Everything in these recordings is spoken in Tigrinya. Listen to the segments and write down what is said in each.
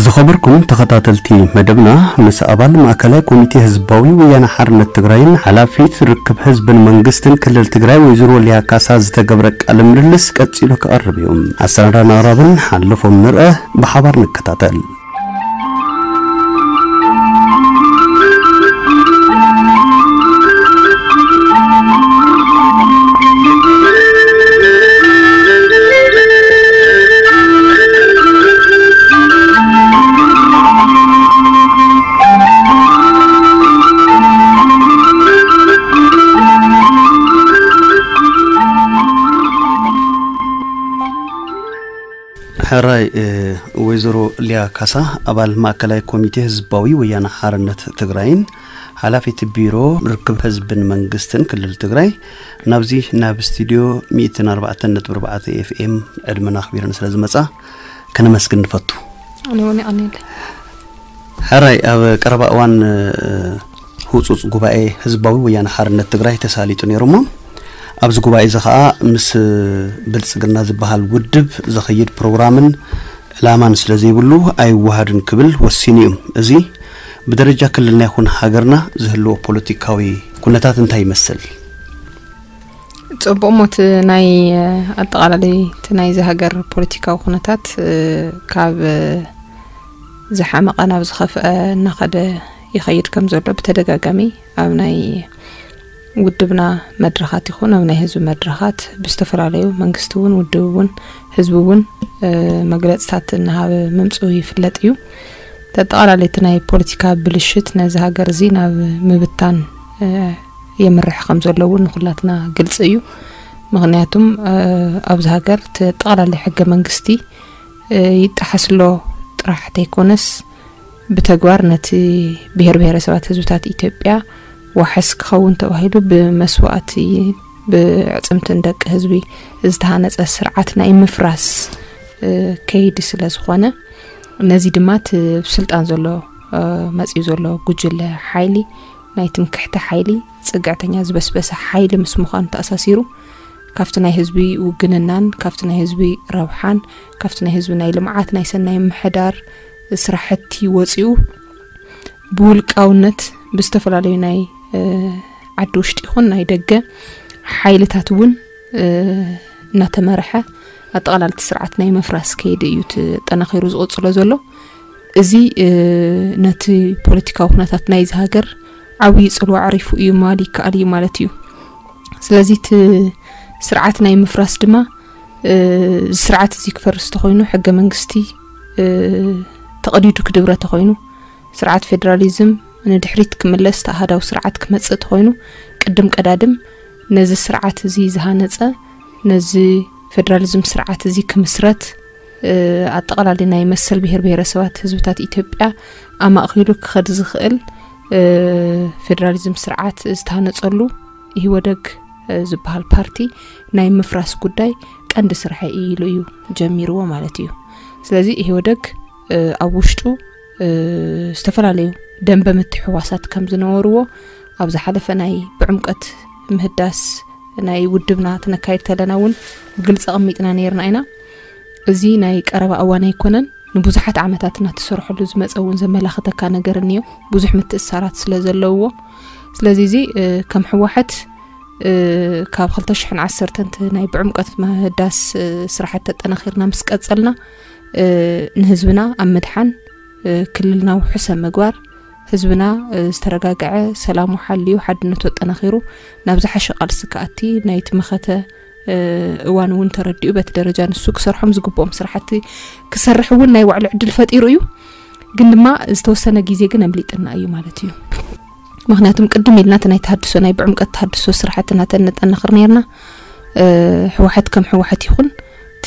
ዝኸበርኩም ተኸታተልቲ መደብና፣ ምስ ኣባል ማእከላይ ኮሚቴ ህዝባዊ ወያነ ሓርነት ትግራይን ሓላፊት ርክብ ህዝብን መንግስትን ክልል ትግራይ ወይዘሮ ሊያ ካሳ ዝተገብረ ቃለ ምልልስ ቀጺሉ ክቐርብ እዩ። ኣሰናዳን ኣቕራብን ሓለፎም ንርአ፣ ብሓባር ንከታተል። ሕራይ፣ እ፣ ወይዘሮ ሊያ ካሳ፣ ኣባል ማእከላይ ኮሚቴ ህዝባዊ ወያነ ሓርነት ትግራይን ሓላፊት ቢሮ ርክብ ህዝብን መንግስትን ክልል ትግራይ፣ ናብዚ ናብ ስቱድዮ ሚእትን ኣርባዕተን ነጥቢ ኣርባዕተ ኤፍ ኤም ዕድመና ኣኽቢረን ስለ ዝመጻ ከነመስግን ንፈቱ። ኣነ እውን የቐንየለይ። ሕራይ፣ ኣብ ቀረባ እዋን፣ እ፣ ህጹጽ ጉባኤ ህዝባዊ ወያነ ሓርነት ትግራይ ተሳሊጡ ነይሩ እሞ፣ ኣብዚ ጉባኤ እዚ ኸኣ ምስ ብልጽግና ዝበሃል ውድብ ዘኸይድ ፕሮግራምን ዕላማን ስለ ዘይብሉ ኣይወሃድን ክብል ወሲኑ እዩ። እዚ ብደረጃ ክልልና ይኹን ሃገርና ዝህልዎ ፖለቲካዊ ኩነታት እንታይ ይመስል? ጽቡቕ እሞ፣ እቲ ናይ፣ ኣጠቓላሊ እቲ ናይዚ ሃገር ፖለቲካዊ ኩነታት፣ እ፣ ካብ ዝሓመቐ ናብ ዝኸፍአ እናኸደ ይኸይድ ከም ዘሎ ብተደጋጋሚ ኣብ ናይ ውድብና መድረኻት ይኹን ኣብ ናይ ህዝቢ መድረኻት ብዝተፈላለዩ መንግስቲ እውን ውድብ እውን ህዝቢ እውን፣ እ፣ መግለጽታት እናሃበ ምምጽኡ ይፍለጥ እዩ። ተጠቓላሊ እቲ ናይ ፖለቲካ ብልሽት ነዚ ሃገር እዚ ናብ ምብታን፣ እ፣ የምርሕ ከም ዘሎ እውን ንኹላትና ግልጺ እዩ። ምኽንያቱም፣ እ፣ ኣብዚ ሃገር ተጠቓላሊ ሕገ መንግስቲ፣ እ፣ ይጠሓስ ኣሎ ጥራሕ ተይኮነስ ብተግባር ነቲ ብሄር ብሄረሰባት ህዝብታት ኢትዮጵያ ዋሕስ ክኸውን ተባሂሉ ብመስዋእቲ ብዕጽምትን ደቂ ህዝቢ ዝተሃነጸ ስርዓት ናይ ምፍራስ፣ እ፣ ከይዲ ስለ ዝኾነ፣ ነዚ ድማ እቲ ኣብ ስልጣን ዘሎ፣ እ፣ መጺኡ ዘሎ ጉጅለ ሓይሊ ናይ ትምክሕቲ ሓይሊ፣ ጽግዕተኛ ዝበስበሰ ሓይሊ ምስ ምዃኑ ተኣሳሲሩ፣ ካብቲ ናይ ህዝቢ ውግንናን ካብቲ ናይ ህዝቢ ረብሓን ካብቲ ናይ ህዝቢ ናይ ልምዓት ናይ ሰናይ ምሕዳር ስራሕቲ ወጺኡ ብውልቃውነት ብዝተፈላለዩ ናይ፣ እ፣ ዓዲ ውሽጢ ይኹን ናይ ደገ ሓይልታት እውን፣ እ፣ እናተመርሐ ኣጠቓላሊ እቲ ስርዓት ናይ ምፍራስ ከይዲ እዩ ተጠናኺሩ ዝቕጽሎ ዘሎ። እዚ፣ እ፣ ነቲ ፖለቲካዊ ኩነታት ናይዚ ሃገር ዓብዪ ጽልዋ ኣዕሪፉ እዩ ምባል ይከኣል እዩ ማለት እዩ። ስለዚ እቲ ስርዓት ናይ ምፍራስ ድማ፣ እ፣ እዚ ስርዓት እዚ ክፈርስ ተኾይኑ፣ ሕገ መንግስቲ፣ እ፣ ተቐዲዱ ክድብረ ተኾይኑ፣ ስርዓት ፌደራሊዝም ንድሕሪት ክምለስ፣ እቲ ኣሃዳዊ ስርዓት ክመጽእ ተኾይኑ፣ ቅድም ቀዳድም ነዚ ስርዓት እዚ ዝሃነጸ፣ ነዚ ፌደራሊዝም ስርዓት እዚ ክምስረት፣ እ፣ ኣጠቓላሊ ናይ መሰል ብሄር ብሄረሰባት ህዝብታት ኢትዮጵያ ኣማእኪሉ ክኸድ ዝኽእል፣ እ፣ ፌደራሊዝም ስርዓት ዝተሃነጸሉ ኢህወደግ፣ እ፣ ዝበሃል ፓርቲ ናይ ምፍራስ ጉዳይ ቀንዲ ስርሐ ኢሉ እዩ ጀሚርዎ ማለት እዩ። ስለዚ ኢህወደግ፣ እ፣ ኣብ ውሽጡ፣ እ፣ ዝተፈላለዩ ደንበ ምትሕዋሳት ከም ዝነበርዎ ኣብ ዝሓለፈ ናይ ብዕምቀት ምህዳስ ናይ ውድብና ክነካይድ ከለና እውን ብግልፂ ኣቐሚጥና ነይርና ኢና። እዚ ናይ ቀረባ እዋን ኣይኮነን፣ ንብዙሓት ዓመታት እናተሰርሐሉ ዝመፀ እውን ዘመላኽተካ ነገር እኒኦ፣ ብዙሕ ምትእሳራት ስለ ዘለውዎ። ስለዚ እዚ፣ እ፣ ከም ህወሓት፣ እ፣ ካብ ክልተ ሽሕን ዓሰርተን እቲ ናይ ብዕምቀት ምህዳስ፣ እ፣ ስራሕቲ ተጠናኺርና ምስ ቀፀልና፣ እ፣ ንህዝብና ኣብ ምድሓን፣ እ፣ ክልልና ውሑስ ኣብ ምግባር፣ ህዝብና ዝተረጋግዐ፣ ሰላሙ ሓልዩ፣ ሓድነቱ ኣጠናኺሩ ናብ ዝሓሸ ቃልሲ ክኣቲ ናይቲ መኸተ እዋን እውን ተረዲኡ በቲ ደረጃ ንሱ ክሰርሖም ዝግብኦም ስራሕቲ ክሰርሕ እውን ናይ ባዕሉ ዕድል ፈጢሩ እዩ። ግን ድማ ዝተወሰነ ግዜ ግን ኣምሊጥና እዩ ማለት እዩ። ምክንያቱም ቅድም ኢልና እቲ ናይ ተሃድሶ፣ ናይ ብዕምቀት ተሃድሶ ስራሕቲ እናተነጠናኽር ነርና። ህወሓት ከም ህወሓት ይኹን እቲ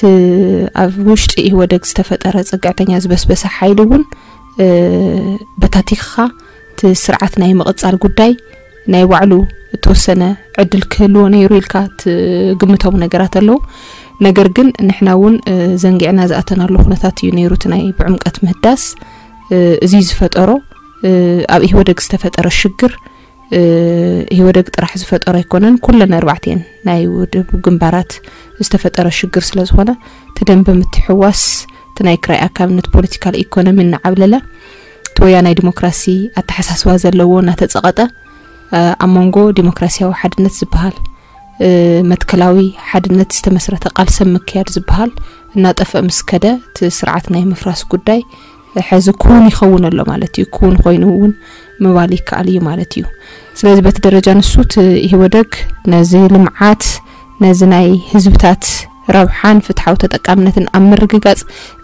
ኣብ ውሽጢ ኢህወደግ ዝተፈጠረ ፅግዕተኛ ዝበስበሰ ሓይሊ እውን በታቲኽኻ እቲ ስርዓት ናይ ምቕፃል ጉዳይ ናይ ባዕሉ እተወሰነ ዕድል ክህልዎ ነይሩ ኢልካ ትግምቶም ነገራት ኣለዉ። ነገር ግን ንሕና እውን ዘንጊዕና ዝኣተናሉ ኩነታት እዩ ነይሩ። እቲ ናይ ብዕምቀት ምህዳስ እዚ ዝፈጠሮ ኣብ ኢህወደግ ዝተፈጠረ ሽግር ኢህወደግ ጥራሕ ዝፈጠሮ ኣይኮነን። ኩለን ኣርባዕተን ናይ ውድብ ግንባራት ዝተፈጠረ ሽግር ስለ ዝኾነ እቲ ደንበ ምትሕዋስ እቲ ናይ ክራይ ኣካብነት ፖለቲካል ኢኮኖሚ እናዓብለለ እቲ ወያናይ ዲሞክራሲ ኣተሓሳስባ ዘለዎ እናተፀቐጠ ኣብ መንጎ ዲሞክራሲያዊ ሓድነት ዝበሃል መትከላዊ ሓድነት ዝተመስረተ ቃልሰ ምክያድ ዝበሃል እናጠፍአ ምስ ከደ እቲ ስርዓት ናይ ምፍራስ ጉዳይ ሕዚ ክውን ይኸውን ኣሎ ማለት እዩ። ክውን ኮይኑ እውን ምባል ይከኣል እዩ ማለት እዩ። ስለዚ በቲ ደረጃ ንሱ እቲ ኢህወደግ ነዚ ልምዓት ነዚ ናይ ህዝብታት ረብሓን ፍትሓዊ ተጠቃምነትን ኣብ ምርግጋፅ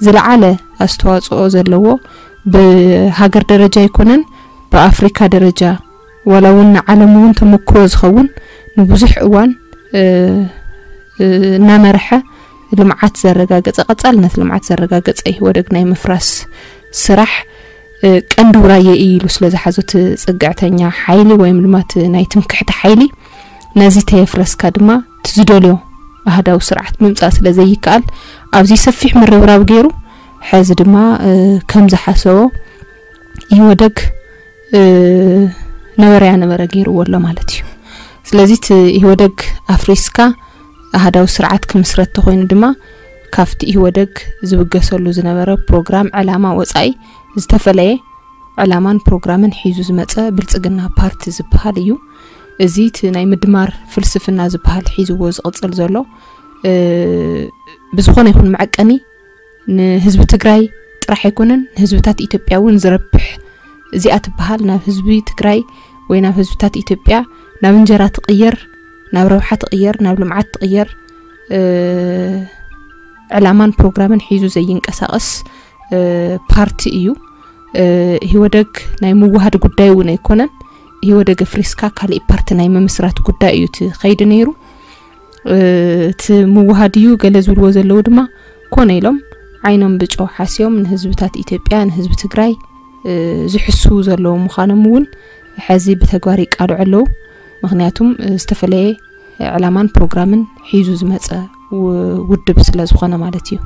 ዝለዓለ ኣስተዋፅኦ ዘለዎ ብሃገር ደረጃ ኣይኮነን ብኣፍሪካ ደረጃ ዋላ እውን ንዓለም እውን ተመክሮ ዝኸውን ንብዙሕ እዋን እናመርሐ ልምዓት ዘረጋገፀ ቀፃልነት ልምዓት ዘረጋገፀ ኢህወደግ ናይ ምፍራስ ስራሕ ቀንዲ ውራየ እዩ ኢሉ ስለ ዝሓዞ እቲ ፅግዕተኛ ሓይሊ ወይም ድማ እቲ ናይ ትምክሕቲ ሓይሊ ነዚ ተየፍረስካ ድማ እቲ ዝደልዮ ኣህዳዊ ስርዓት ምምፃእ ስለ ዘይከኣል ኣብዚ ሰፊሕ ምርብራብ ገይሩ ሕዚ ድማ ከም ዝሓሰቦ ኢህወደግ ነበረያ ነበረ ገይርዎ ኣሎ ማለት እዩ። ስለዚ እቲ ኢህወደግ ኣፍሪስካ ኣህዳዊ ስርዓት ክምስረት ተኮይኑ ድማ ካብቲ ኢህወደግ ዝብገሰሉ ዝነበረ ፕሮግራም ዕላማ ወፃኢ ዝተፈለየ ዕላማን ፕሮግራምን ሒዙ ዝመፀ ብልፅግና ፓርቲ ዝበሃል እዩ። እዚ እቲ ናይ ምድማር ፍልስፍና ዝበሃል ሒዝዎ ዝቕፅል ዘሎ ብዝኾነ ይኹን መዐቀኒ ንህዝቢ ትግራይ ጥራሕ ኣይኮነን ንህዝብታት ኢትዮጵያ እውን ዝረብሕ እዚኣ ትበሃል ናብ ህዝቢ ትግራይ ወይ ናብ ህዝብታት ኢትዮጵያ ናብ እንጀራ ትቕየር ናብ ረብሓ ትቕየር ናብ ልምዓት ትቕየር ዕላማን ፕሮግራምን ሒዙ ዘይንቀሳቐስ ፓርቲ እዩ። ኢህወደግ ናይ ምውሃድ ጉዳይ እውን ኣይኮነን። ኢህወደግ ኣፍሪስካ ካሊእ ፓርቲ ናይ ምምስራት ጉዳይ እዩ እቲ ከይዲ ነይሩ። እቲ ምውሃድ እዩ ገለ ዝብልዎ ዘለዉ ድማ ኮነ ኢሎም ዓይኖም ብጨው ሓስዮም ንህዝብታት ኢትዮጵያ ንህዝቢ ትግራይ ዝሕስዉ ዘለዉ ምዃኖም እውን ሕዚ ብተግባር ይቃልዑ ኣለዉ። ምክንያቱም ዝተፈለየ ዕላማን ፕሮግራምን ሒዙ ዝመፀ ውድብ ስለ ዝኾነ ማለት እዩ።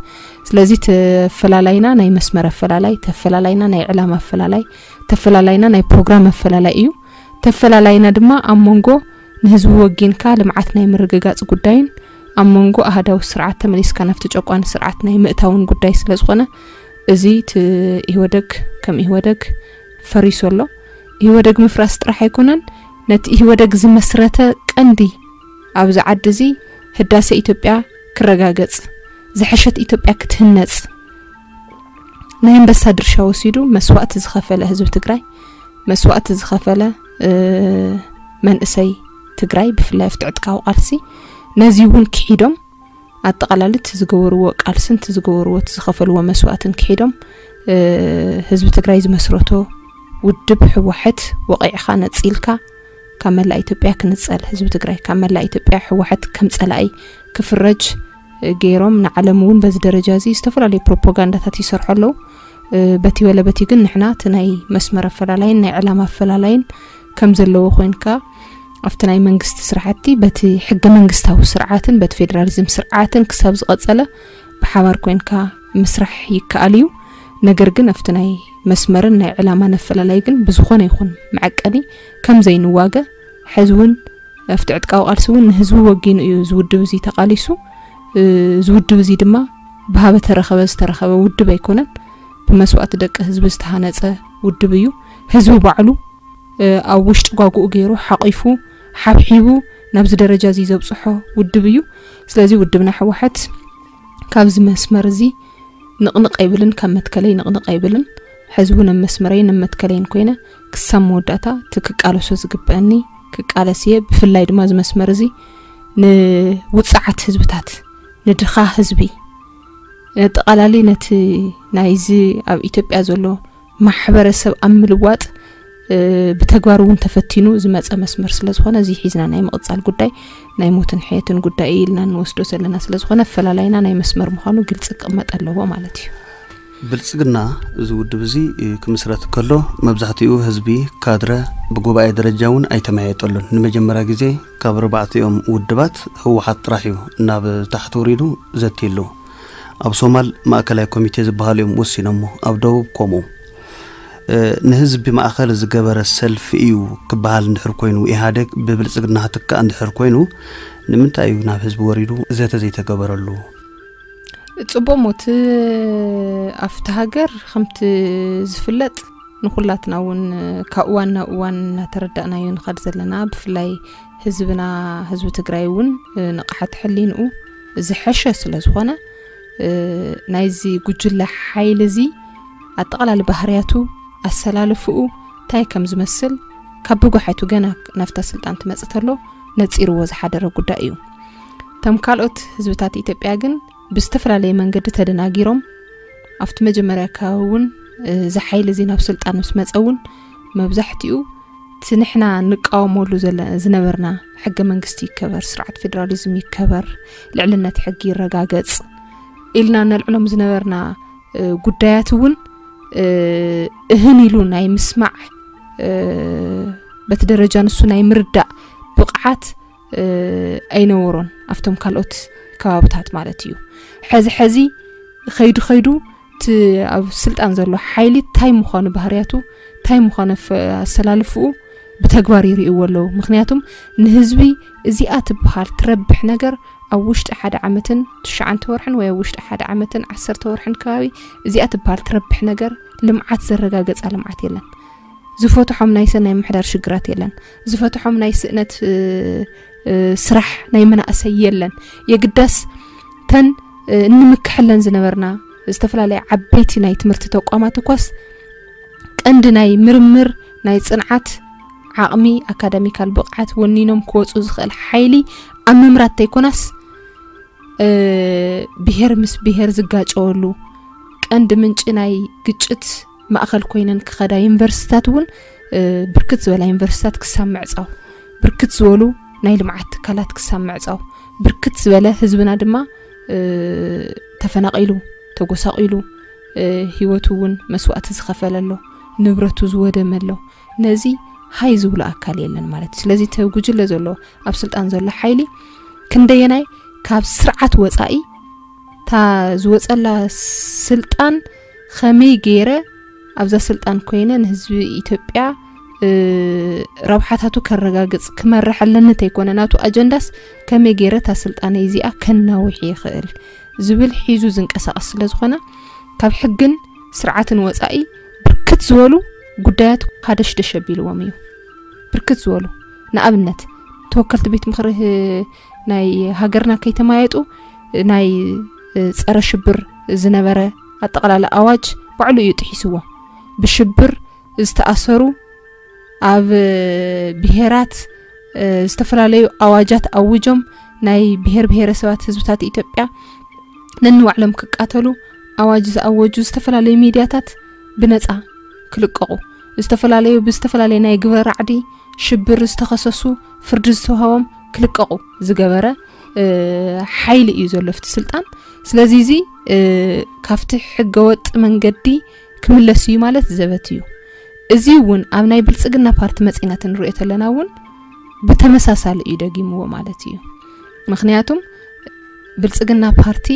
ስለዚ ተፈላላይና ናይ መስመር ኣፈላላይ፣ ተፈላላይና ናይ ዕላማ ኣፈላላይ፣ ተፈላላይና ናይ ፕሮግራም ኣፈላላይ እዩ። ተፈላላይና ድማ ኣብ መንጎ ንህዝቢ ወጊንካ ልምዓት ናይ ምርግጋፅ ጉዳይን ኣብ መንጎ ኣህዳዊ ስርዓት ተመሊስካ ናብቲ ጨቋኒ ስርዓት ናይ ምእታውን ጉዳይ ስለ ዝኾነ እዚ ኢህወደግ ከም ኢህወደግ ፈሪሱ ኣሎ። ኢህወደግ ምፍራስ ጥራሕ ኣይኮነን፣ ነቲ ኢህወደግ ዝመስረተ ቀንዲ ኣብዚ ዓዲ እዚ ህዳሴ ኢትዮጵያ ክረጋገጽ፣ ዝሐሸት ኢትዮጵያ ክትህነጽ ናይ ኣንበሳ ድርሻ ወሲዱ መስዋእቲ ዝኸፈለ ህዝቢ ትግራይ፣ መስዋእቲ ዝኸፈለ መንእሰይ ትግራይ ብፍላይ ኣብቲ ዕጥቃዊ ቃልሲ ነዚ እውን ክሒዶም ኣጠቓላሊ እቲ ዝገበርዎ ቃልስን እቲ ዝገበርዎ እቲ ዝኸፈልዎ መስዋእትን ክሒዶም ህዝቢ ትግራይ ዝመስረቶ ውድብ ህወሓት ወቒዕኻ ነፂልካ ካብ መላእ ኢትዮጵያ ክንፀል ህዝቢ ትግራይ ካብ መላእ ኢትዮጵያ ህወሓት ከም ፀላኢ ክፍረጅ ገይሮም ንዓለም እውን በዚ ደረጃ እዚ ዝተፈላለዩ ፕሮፓጋንዳታት ይሰርሑ ኣለዉ። በቲ በለ በቲ ግን ንሕና እቲ ናይ መስመር ኣፈላላይን ናይ ዕላማ ኣፈላላይን ከም ዘለዎ ኮይንካ ኣብቲ ናይ መንግስቲ ስርዓቲ በቲ ሕገ መንግስታዊ ስርዓትን በቲ ፌዴራሊዝም ስርዓትን ክሳብ ዝቐጸለ ብሓባር ኮይንካ ምስራሕ ይከኣል እዩ። ነገር ግን ኣብቲ ናይ መስመርን ናይ ዕላማን ኣፈላላይ ግን ብዝኾነ ይኹን መዐቀኒ ከም ዘይንዋገ ሕዚ እውን ኣብቲ ዕጥቃዊ ቃልሲ እውን ንህዝቢ ወጊኑ እዩ እዚ ውድብ እዚ ተቓሊሱ። እዚ ውድብ እዚ ድማ ብሃበ ተረኸበ ዝተረኸበ ውድብ ኣይኮነን። ብመስዋእቲ ደቂ ህዝቢ ዝተሃነፀ ውድብ እዩ። ህዝቢ ባዕሉ ኣብ ውሽጢ ጓጉኡ ገይሩ ሓቒፉ ሓብሒቡ ናብዚ ደረጃ እዚ ዘብፅሖ ውድብ እዩ። ስለዚ ውድብና ህወሓት ካብዚ መስመር እዚ ንቕንቕ ኣይብልን፣ ካብ መትከለይ ንቕንቕ ኣይብልን። ሕዚ እውን ኣብ መስመረይን ኣብ መትከለይን ኮይነ ክሳብ መወዳእታ እቲ ክቃለሶ ዝግበአኒ ክቃለስ እየ። ብፍላይ ድማ እዚ መስመር እዚ ንውፅዓት ህዝብታት፣ ንድኻ ህዝቢ፣ ኣጠቓላሊ ነቲ ናይዚ ኣብ ኢትዮጵያ ዘሎ ማሕበረሰብ ኣብ ምልዋጥ ብተግባር እውን ተፈቲኑ ዝመፀ መስመር ስለ ዝኾነ፣ እዚ ሒዝና ናይ ምቕፃል ጉዳይ ናይ ሞትን ሕየትን ጉዳይ እዩ ኢልና እንወስዶ ዘለና ስለ ዝኾነ፣ ኣፈላላይና ናይ መስመር ምዃኑ ግልፂ ክቕመጥ ኣለዎ ማለት እዩ። ብልፅግና፣ እዚ ውድብ እዚ ክምስረት ከሎ መብዛሕትኡ ህዝቢ፣ ካድረ፣ ብጉባኤ ደረጃ እውን ኣይተመያየጠሉን። ንመጀመርያ ግዜ ካብ ኣርባዕቲኦም ውድባት ህወሓት ጥራሕ እዩ ናብ ታሕቲ ወሪዱ ዘትየሉ። ኣብ ሶማል ማእከላይ ኮሚቴ ዝበሃሉ እዮም ወሲኖሞ፣ ኣብ ደቡብ ከምኡ። ንህዝቢ ማእኸል ዝገበረ ሰልፊ እዩ ክበሃል እንድሕር ኮይኑ፣ ኢህኣደግ ብብልፅግና ክትካእ እንድሕር ኮይኑ፣ ንምንታይ እዩ ናብ ህዝቢ ወሪዱ ዘተ ዘይተገበረሉ? ፅቡቅ ሞት ኣብቲ ሃገር ከምቲ ዝፍለጥ ንኩላትና እውን ካብ እዋን ናብ እዋን እናተረዳእናዮ ንኸድ ዘለና፣ ብፍላይ ህዝብና፣ ህዝቢ ትግራይ እውን ንቕሓት ሕሊንኡ ዝሐሸ ስለ ዝኾነ፣ ናይዚ ጉጅለ ሓይሊ እዚ ኣጠቓላሊ ባህርያቱ፣ ኣሰላልፍኡ እንታይ ከም ዝመስል ካብ ብጓሓቱ ገና ናብታ ስልጣን ትመጽእ ተሎ ነጺርዎ ዝሓደረ ጉዳይ እዩ። እቶም ካልኦት ህዝብታት ኢትዮጵያ ግን ብዝተፈላለየ መንገዲ ተደናጊሮም፣ ኣብቲ መጀመርያ ከባቢ እውን እዚ ሓይሊ እዚ ናብ ስልጣን ምስ መጸ እውን መብዛሕትኡ እቲ ንሕና ንቃወመሉ ዝነበርና ሕገ መንግስቲ ይከበር፣ ስርዓት ፌዴራሊዝም ይከበር፣ ልዕልነት ሕጊ ይረጋገጽ ኢልና ነልዕሎም ዝነበርና ጉዳያት እውን እህን ኢሉ ናይ ምስማዕ፣ በቲ ደረጃ ንሱ ናይ ምርዳእ ብቕዓት ኣይነበሮን ኣብቶም ካልኦት ከባብታት ማለት እዩ። ሕዚ ሕዚ ኸይዱ ኸይዱ እቲ ኣብ ስልጣን ዘሎ ሓይሊ እንታይ ምዃኑ፣ ባህርያቱ እንታይ ምዃኑ፣ ኣሰላልፍኡ ብተግባር ይርእይዎ ኣለዉ። ምኽንያቱም ንህዝቢ እዚኣ ትበሃል ትረብሕ ነገር ኣብ ውሽጢ ሓደ ዓመትን ትሽዓተ ወርሕን ወይ ኣብ ውሽጢ ሓደ ዓመትን ዓሰርተ ወርሕን ከባቢ እዚኣ ትበሃል ትረብሕ ነገር ልምዓት ዘረጋገጻ ልምዓት የለን። ዝፈትሖም ናይ ሰናይ ምሕዳር ሽግራት የለን። ዝፈትሖም ናይ ስእነት ስራሕ ናይ መናእሰይ የለን። የግዳስ ተን እንምክሐለን ዝነበርና ዝተፈላለያ ዓበይቲ ናይ ትምህርቲ ተቋማት እኳስ ቀንዲ ናይ ምርምር፣ ናይ ጽንዓት ዓቕሚ፣ ኣካዳሚካል ብቕዓት ወኒኖም ክወፁ ዝኽእል ሓይሊ ኣብ ምምራት ተይኮናስ ብሄር ምስ ብሄር ዝጋጨወሉ ቀንዲ ምንጪ ናይ ግጭት ማእኸል ኮይነን ክኸዳ ዩኒቨርሲቲታት እውን ብርክት ዝበላ ዩኒቨርሲቲታት ክሳብ ምዕፃው፣ ብርክት ዝበሉ ናይ ልምዓት ትካላት ክሳብ ምዕፃው፣ ብርክት ዝበለ ህዝብና ድማ ተፈናቒሉ፣ ተጎሳቒሉ፣ ህይወቱ እውን መስዋእቲ ዝኸፈለ ኣሎ፣ ንብረቱ ዝወደመ ኣሎ። ነዚ ሃይ ዝብሎ ኣካል የለን ማለት እዩ። ስለዚ እቲ ጉጅለ ዘሎ፣ ኣብ ስልጣን ዘሎ ሓይሊ ክንደየናይ ካብ ስርዓት ወፃኢ እታ ዝወፀላ ስልጣን ከመይ ገይረ ኣብዛ ስልጣን ኮይነ ንህዝቢ ኢትዮጵያ ረብሓታቱ ከረጋግፅ ክመርሕ ኣለኒ ተይኮነ ናቱ ኣጀንዳስ ከመይ ገይረ እታ ስልጣነይ እዚኣ ከናውሕ ይኽእል ዝብል ሒዙ ዝንቀሳቐስ ስለ ዝኾነ ካብ ሕግን ስርዓትን ወፃኢ ብርክት ዝበሉ ጉዳያት ሃደሽደሽ ኣቢልዎም እዩ። ብርክት ዝበሉ ንኣብነት ተወከልቲ ቤት ምኽሪ ናይ ሃገርና ከይተማየጡ ናይ ፀረ ሽብር ዝነበረ ኣጠቓላሊ ኣዋጅ ባዕሉ እዩ ጥሒስዎ። ብሽብር ዝተኣሰሩ ኣብ ብሄራት ዝተፈላለዩ ኣዋጃት ኣውጆም ናይ ብሄር ብሄረሰባት ህዝብታት ኢትዮጵያ ነንባዕሎም ክቃተሉ ኣዋጅ ዝኣወጁ ዝተፈላለዩ ሚድያታት ብነፃ ክልቀቑ፣ ዝተፈላለዩ ብዝተፈላለየ ናይ ግብረ ራዕዲ ሽብር ዝተኸሰሱ ፍርዲ ዝተውሃቦም ክልቀቑ ዝገበረ ሓይሊ እዩ ዘሎ ኣብቲ ስልጣን። ስለዚ እዚ ካብቲ ሕገወጥ መንገዲ ክምለስ እዩ ማለት ዘበት እዩ። እዚ እውን ኣብ ናይ ብልፅግና ፓርቲ መፂና እንሪኦ ተለና እውን ብተመሳሳሊ እዩ ደጊምዎ ማለት እዩ። ምክንያቱም ብልፅግና ፓርቲ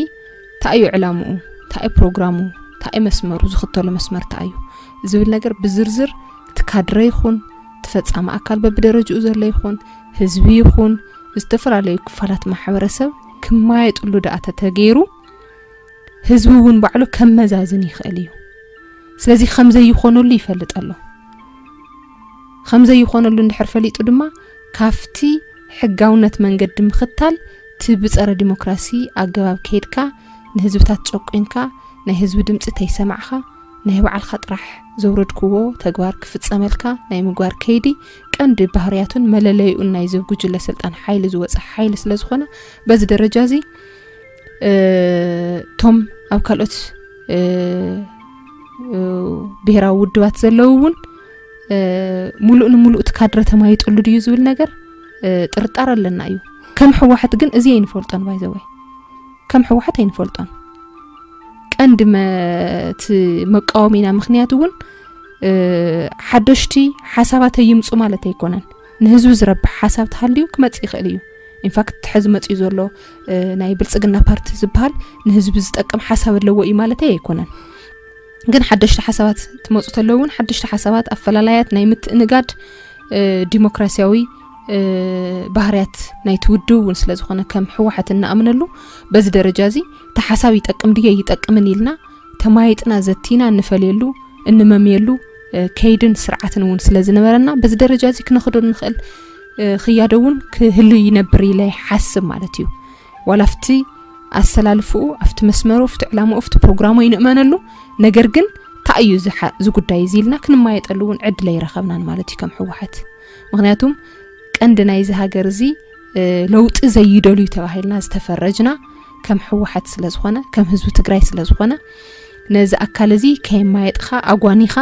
እንታይ እዩ ዕላምኡ፣ እንታይ እዩ ፕሮግራሙ፣ እንታይ እዩ መስመሩ፣ ዝኽተሎ መስመር እንታይ እዩ ዝብል ነገር ብዝርዝር እቲ ካድረ ይኹን እቲ ፈፃሚ ኣካል በብደረጅኡ ዘሎ ይኹን ህዝቢ ይኹን ዝተፈላለዩ ክፋላት ማሕበረሰብ ክማየጥሉ ደኣ ተተገይሩ ህዝቢ እውን ባዕሉ ከመዛዝን ይኽእል እዩ። ስለዚ ከምዘይኾነሉ ይፈልጥ ኣሎ። ከምዘይኾነሉ እንድሕር ፈሊጡ ድማ ካብቲ ሕጋውነት መንገዲ ምኽታል እቲ ብፀረ ዲሞክራሲ ኣገባብ ከይድካ ንህዝብታት ጨቂንካ ናይ ህዝቢ ድምፂ ተይሰማዕኻ ናይ ባዕልኻ ጥራሕ ዘውረድክዎ ተግባር ክፍጸመልካ ናይ ምግባር ከይዲ ቀንዲ ባህርያቱን መለለይኡን ናይዚ ጉጅለ ስልጣን ሓይሊ ዝወጸ ሓይሊ ስለ ዝኾነ፣ በዚ ደረጃ እዚ፣ እ፣ እቶም ኣብ ካልኦት፣ እ፣ እ፣ ብሄራዊ ውድባት ዘለዉ እውን፣ እ፣ ሙሉእ ንሙሉእ እቲ ካድረ ተማይጥሉ ድዩ ዝብል ነገር፣ እ፣ ጥርጣረ ኣለና እዩ። ከም ህወሓት ግን እዚ ኣይንፈልጦን፣ ባይዘወይ ከም ህወሓት ኣይንፈልጦን። ቀንዲ መ-፣ እቲ መቃወሚና ምኽንያት እውን፣ እ፣ ሓደሽቲ ሓሳባት ኣይምፁ ማለት ኣይኮነን። ንህዝቢ ዝረብሕ ሓሳብ ተሃልዩ ክመጽእ ይኽእል እዩ። ኢንፋክት፣ ሕዚ መጽኡ ዘሎ፣ እ፣ ናይ ብልጽግና ፓርቲ ዝበሃል ንህዝቢ ዝጠቅም ሓሳብ ኣለዎ እዩ ማለተይ ኣይኮነን። ግን ሓደሽቲ ሓሳባት ትመጹ ተለዉ እውን፣ ሓደሽቲ ሓሳባት፣ ኣፈላላያት ናይ ምትእንጋድ፣ እ፣ ዲሞክራሲያዊ፣ እ፣ ባህርያት ናይቲ ውድብ እውን ስለ ዝኾነ፣ ከም ህወሓት እንኣምነሉ፣ በዚ ደረጃ እዚ እቲ ሓሳብ ይጠቅም ድየ ይጠቅምን ኢልና ተማይጥና ዘቲና እንፈልየሉ፣ እንመምየሉ፣ እ፣ ከይድን ስርዓትን እውን ስለ ዝነበረና፣ በዚ ደረጃ እዚ ክነኽዶ እንኽእል፣ እ፣ ክያዶ እውን ክህሉ ይነብር ኢለ ይሓስብ ማለት እዩ። ዋላ ኣብቲ ኣሰላልፍኡ፣ ኣብቲ መስመሩ፣ ኣብቲ ዕላምኡ፣ ኣብቲ ፕሮግራሙ ይንእመነሉ። ነገር ግን፣ እንታይ እዩ እዚ ሓ-፣ እዚ ጉዳይ እዚ ኢልና ክንማየጠሉ እውን ዕድል ኣይረኸብናን ማለት እዩ ከም ህወሓት። ምኽንያቱም፣ ቀንዲ ናይዚ ሃገር እዚ፣ እ፣ ለውጢ ዘይደልዩ ተባሂልና ዝተፈረጅና ከም ህወሓት ስለ ዝኾነ፣ ከም ህዝቢ ትግራይ ስለ ዝኾነ፣ ነዚ ኣካል እዚ ከየማየጥኻ ኣጓኒኻ፣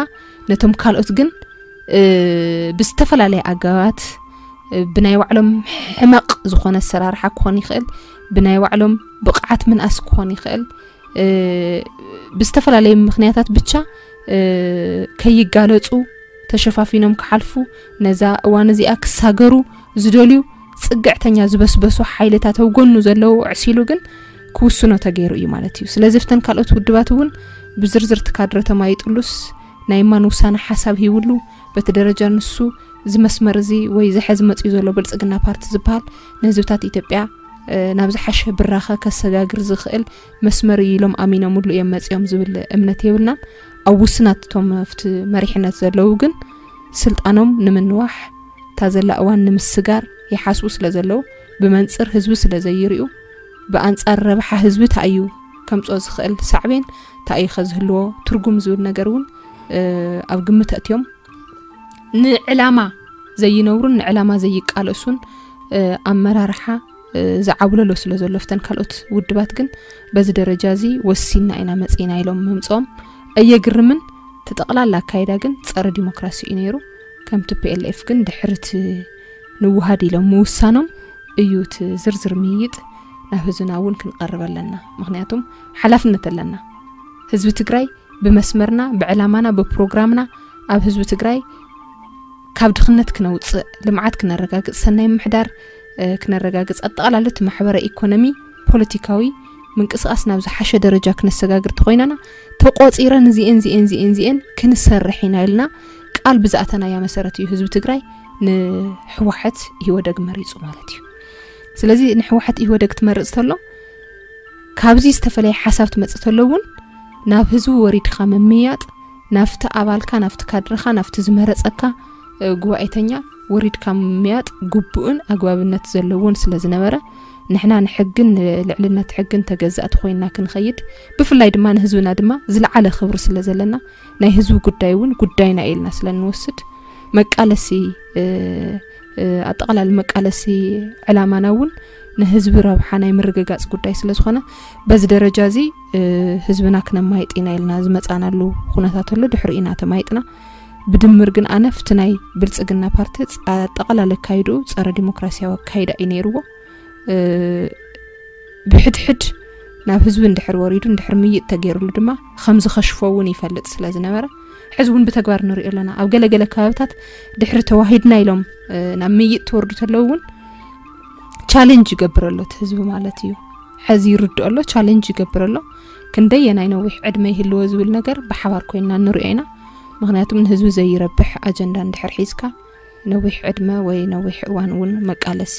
ነቶም ካልኦት ግን፣ እ፣ ብዝተፈላለየ ኣገባባት፣ እ፣ ብናይ ባዕሎም ሕመቕ ዝኾነ ኣሰራርሓ ክኾን ይኽእል፣ ብናይ ባዕሎም ብቕዓት ምንኣስ ክኾን ይኽእል፣ እ፣ ብዝተፈላለየ ምኽንያታት ብቻ፣ እ፣ ከይጋለጹ፣ ተሸፋፊኖም ክሓልፉ፣ ነዛ እዋን እዚኣ ክሳገሩ ዝደልዩ ጽግዕተኛ ዝበስበሱ ሓይልታት ኣብ ጎኑ ዘለዉ ኣዕሲሉ ግን ክውስኖ ተገይሩ እዩ ማለት እዩ። ስለዚ፣ ኣብተን ካልኦት ውድባት እውን ብዝርዝር እቲ ካድረ ተማይጥሉስ፣ ናይ እማን ውሳነ ሓሳብ ሂብሉ፣ በቲ ደረጃ ንሱ፣ እዚ መስመር እዚ ወይ እዚ ሕዚ መጽኡ ዘሎ ብልጽግና ፓርቲ ዝበሃል፣ ንህዝብታት ኢትዮጵያ፣ እ፣ ናብ ዝሓሸ ብራኸ ከሰጋግር ዝኽእል መስመር እዩ ኢሎም ኣሚኖምሉ እዮም መጺኦም ዝብል እምነት የብልናን። ኣብ ውስናት እቶም ኣብቲ መሪሕነት ዘለዉ ግን፣ ስልጣኖም ንምንዋሕ፣ እታ ዘላ እዋን ንምስጋር ይሓስቡ ስለ ዘለዉ፣ ብመንጽር ህዝቢ ስለ ዘይርእዩ፣ ብኣንጻር ረብሓ ህዝቢ እንታይ እዩ ከምጽኦ ዝኽእል ሳዕቤን፣ እንታይ እዩ ከዝህልዎ ትርጉም ዝብል ነገር እውን፣ እ፣ ኣብ ግምት ኣእትዮም፣ ንዕላማ ዘይነብሩን ንዕላማ ዘይቃለሱን፣ እ፣ ኣመራርሓ፣ እ፣ ዝዓብለሎ ስለ ዘሎ፣ ኣብተን ካልኦት ውድባት ግን በዚ ደረጃ እዚ ወሲንና ኢና መጺና ኢሎም ምምጽኦም ኣየግርምን። እቲ ጠቕላላ ኣካይዳ ግን ጸረ ዲሞክራሲ እዩ ነይሩ። ከምቲ ፒ ኤል ኤፍ ግን ድሕሪ እቲ ንውሃድ ኢሎም ምውሳኖም እዩ እቲ ዝርዝር ምይይጥ ናብ ህዝብና እውን ክንቐርብ ኣለና። ምኽንያቱም ሓላፍነት ኣለና። ህዝቢ ትግራይ ብመስመርና፣ ብዕላማና፣ ብፕሮግራምና ኣብ ህዝቢ ትግራይ ካብ ድኽነት ክነውፅእ፣ ልምዓት ክነረጋግፅ፣ ሰናይ ምምሕዳር፣ እ፣ ክነረጋግፅ፣ ኣጠቓላሊ እቲ ማሕበረ ኢኮኖሚ፣ ፖለቲካዊ ምንቅስቓስ ናብ ዝሓሸ ደረጃ ክነሰጋግር ተኾይናና፣ ተቆፂረን እዚኤን፣ እዚኤን፣ እዚኤን፣ እዚኤን ክንሰርሕ ኢና ኢልና ቃል ብዝኣተናያ መሰረት እዩ ህዝቢ ትግራይ ንህወሓት ኢህወደግ መሪፁ ማለት እዩ። ስለዚ ንህወሓት ኢህወደግ ትመርፅ ተሎ፣ ካብዚ ዝተፈለየ ሓሳብ ትመጽእ ተሎ እውን፣ ናብ ህዝቢ ወሪድካ ምምያጥ፣ ናብቲ ኣባልካ፣ ናብቲ ካድርኻ፣ ናብቲ ዝመረጸካ፣ እ፣ ጉባኤተኛ ወሪድካ ምምያጥ ግቡእን ኣግባብነት ዘለዎን ስለ ዝነበረ፣ ንሕና ንሕግን ንልዕልነት ሕግን ተገዛእቲ ኮይንና ክንኸይድ፣ ብፍላይ ድማ ንህዝብና ድማ ዝለዓለ ክብሪ ስለ ዘለና፣ ናይ ህዝቢ ጉዳይ እውን ጉዳይና ኢልና ስለ እንወስድ፣ መቃለሲ፣ እ፣ እ፣ ኣጠቓላሊ መቃለሲ ዕላማና እውን ንህዝቢ ረብሓ ናይ ምርግጋጽ ጉዳይ ስለ ዝኾነ፣ በዚ ደረጃ እዚ፣ እ፣ ህዝብና ክነማይጥ ኢና ኢልና ዝመጻናሉ ኩነታት ኣሎ። ድሕሪኡ ኢና ተማይጥና። ብድምር ግን ኣነ፣ ኣብቲ ናይ ብልጽግና ፓርቲ ጸ-፣ ኣጠቓላሊ ኣካይድኡ ጸረ ዲሞክራሲያዊ ኣካይዳ እዩ ነይርዎ። እ፣ ብሕድሕድ ናብ ህዝቢ እንድሕር ወሪዱ፣ እንድሕር ምይጥ ተገይሩሉ ድማ፣ ከም ዝኸሽፎ እውን ይፈልጥ ስለ ዝነበረ፣ ሕዚ እውን ብተግባር ንሪኦ ኣለና። ኣብ ገለገለ ከባብታት ድሕሪ ተዋሂድና ኢሎም፣ እ፣ ናብ ምይጥ ትወርዱ ተለዉ እውን፣ ቻሌንጅ ይገብር ኣሎ እቲ ህዝቢ ማለት እዩ። ሕዚ ይርድኦ ኣሎ፣ ቻሌንጅ ይገብር ኣሎ። ክንደየናይ ነዊሕ ዕድመ ይህልዎ ዝብል ነገር ብሓባር ኮይንና ንሪኦ ኢና። ምኽንያቱም ንህዝቢ ዘይረብሕ ኣጀንዳ እንድሕር ሒዝካ፣ ነዊሕ ዕድመ ወይ ነዊሕ እዋን እውን መቃለሲ፣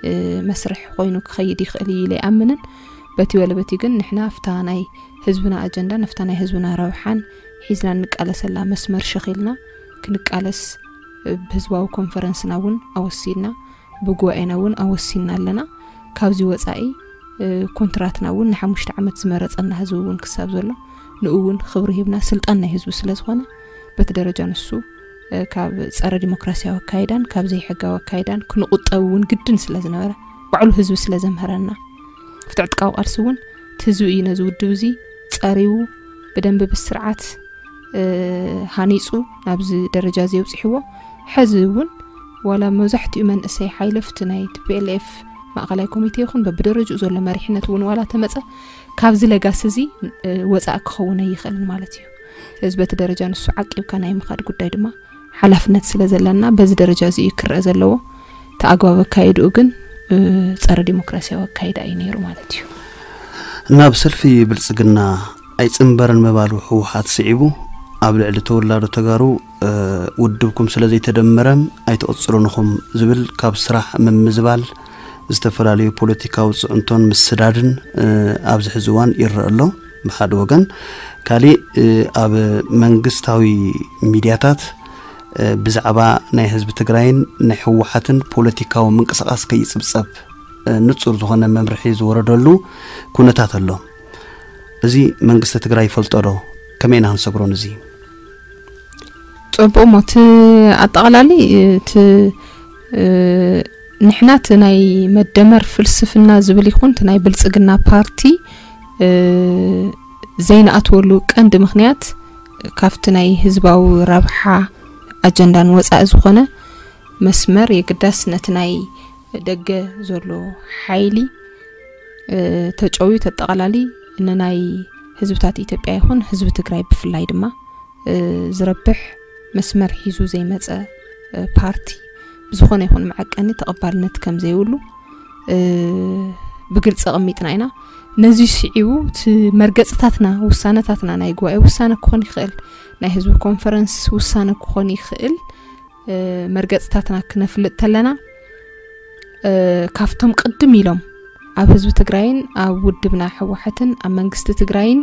እ፣ መስርሕ ኮይኑ ክኸይድ ይኽእል እዩ ኢለ ይኣምንን። በቲ ወለ በቲ ግን ንሕና ኣብታ ናይ ህዝብና ኣጀንዳ፣ ናብታ ናይ ህዝብና ረብሓን ሒዝና እንቃለሰላ መስመር ሸኺልና ክንቃለስ፣ እ፣ ብህዝባዊ ኮንፈረንስና እውን ኣወሲንና፣ ብጉባኤና እውን ኣወሲንና ኣለና። ካብዚ ወጻኢ፣ እ፣ ኮንትራትና እውን ንሓሙሽተ ዓመት ዝመረጸና ህዝቢ እውን ክሳብ ዘሎ፣ ንኡ እውን ክብሪ ሂብና፣ ስልጣን ናይ ህዝቢ ስለ ዝኾነ፣ በቲ ደረጃ ንሱ ካብ ጸረ ዲሞክራሲያዊ ኣካይዳን ካብ ዘይሕጋዊ ኣካይዳን ክንቑጠብ እውን ግድን ስለ ዝነበረ፣ ባዕሉ ህዝቢ ስለ ዘምሀረና፣ ፍትዕጥቃዊ ቃልሲ እውን እቲ ህዝቢ እዩ ነዚ ውድብ እዚ ጸሪቡ፣ ብደንቢ ብስርዓት ሃኒጹ ናብዚ ደረጃ እዚ የውጽሕዎ። ሕዚ እውን ዋላ መብዛሕትኡ መንእሰይ ሓይለፍቲ ናይ ቲ ፒ ኤል ኤፍ ማእኸላይ ኮሚቴ ይኹን በብደረጅኡ ዘሎ መሪሕነት እውን ዋላ ተመጸ፣ ካብዚ ለጋሲ እዚ ወፃእ ክኸውን ኣይኽእልን ማለት እዩ። ስለዚ በቲ ደረጃ ንሱ ዓቂብካ ናይ ምኻድ ጉዳይ ድማ ሓላፍነት ስለ ዘለና፣ በዚ ደረጃ እዚ እዩ ክረአ ዘለዎ። እቲ ኣግባብ ኣካይድኡ ግን ጸረ ዲሞክራሲያዊ ኣካይዳ እዩ ነይሩ ማለት እዩ። ናብ ሰልፊ ብልጽግና ኣይጽንበርን ምባሉ ህወሓት ስዒቡ፣ ኣብ ልዕሊ ተወላዶ ተጋሩ ውድብኩም ስለ ዘይተደመረ ኣይትቕጽሉን ኢኹም ዝብል ካብ ስራሕ ምምዝባል፣ ዝተፈላለዩ ፖለቲካዊ ጽዕንቶን ምስዳድን ኣብዚ ሕዚ እዋን ይረአ ኣሎ። ብሓደ ወገን ካሊእ ኣብ መንግስታዊ ሚድያታት ብዛዕባ ናይ ህዝቢ ትግራይን ናይ ህወሓትን ፖለቲካዊ ምንቅስቃስ ከይጽብጸብ ንጹር ዝኾነ መምርሒ ዝወረደሉ ኩነታት ኣሎ። እዚ መንግስቲ ትግራይ ይፈልጦ ዶ? ከመይ ኢና ክንሰግሮን እዚ? ጽቡቕ እሞ እቲ ኣጠቓላሊ እቲ ንሕና እቲ ናይ መደመር ፍልስፍና ዝብል ይኹን እቲ ናይ ብልጽግና ፓርቲ ዘይንኣትወሉ ቀንዲ ምኽንያት ካብቲ ናይ ህዝባዊ ረብሓ ኣጀንዳን ወጻኢ ዝኾነ መስመር የግዳስ ነቲ ናይ ደገ ዘሎ ሓይሊ ተጨውዩ ተጠቓላሊ ንናይ ህዝብታት ኢትዮጵያ ይኹን ህዝቢ ትግራይ ብፍላይ ድማ ዝረብሕ መስመር ሒዙ ዘይመፀ ፓርቲ ብዝኾነ ይኹን መዐቀኒ ተቐባልነት ከም ዘይብሉ ብግልፂ ኣቐሚጥና ኢና። ነዚ ስዒቡ እቲ መርገፅታትና ውሳነታትና ናይ ጉባኤ ውሳነ ክኾን ይኽእል፣ ናይ ህዝቢ ኮንፈረንስ ውሳነ ክኾን ይኽእል። መርገፅታትና ክነፍልጥ ተለና ካብቶም ቅድም ኢሎም ኣብ ህዝቢ ትግራይን ኣብ ውድብና ህወሓትን ኣብ መንግስቲ ትግራይን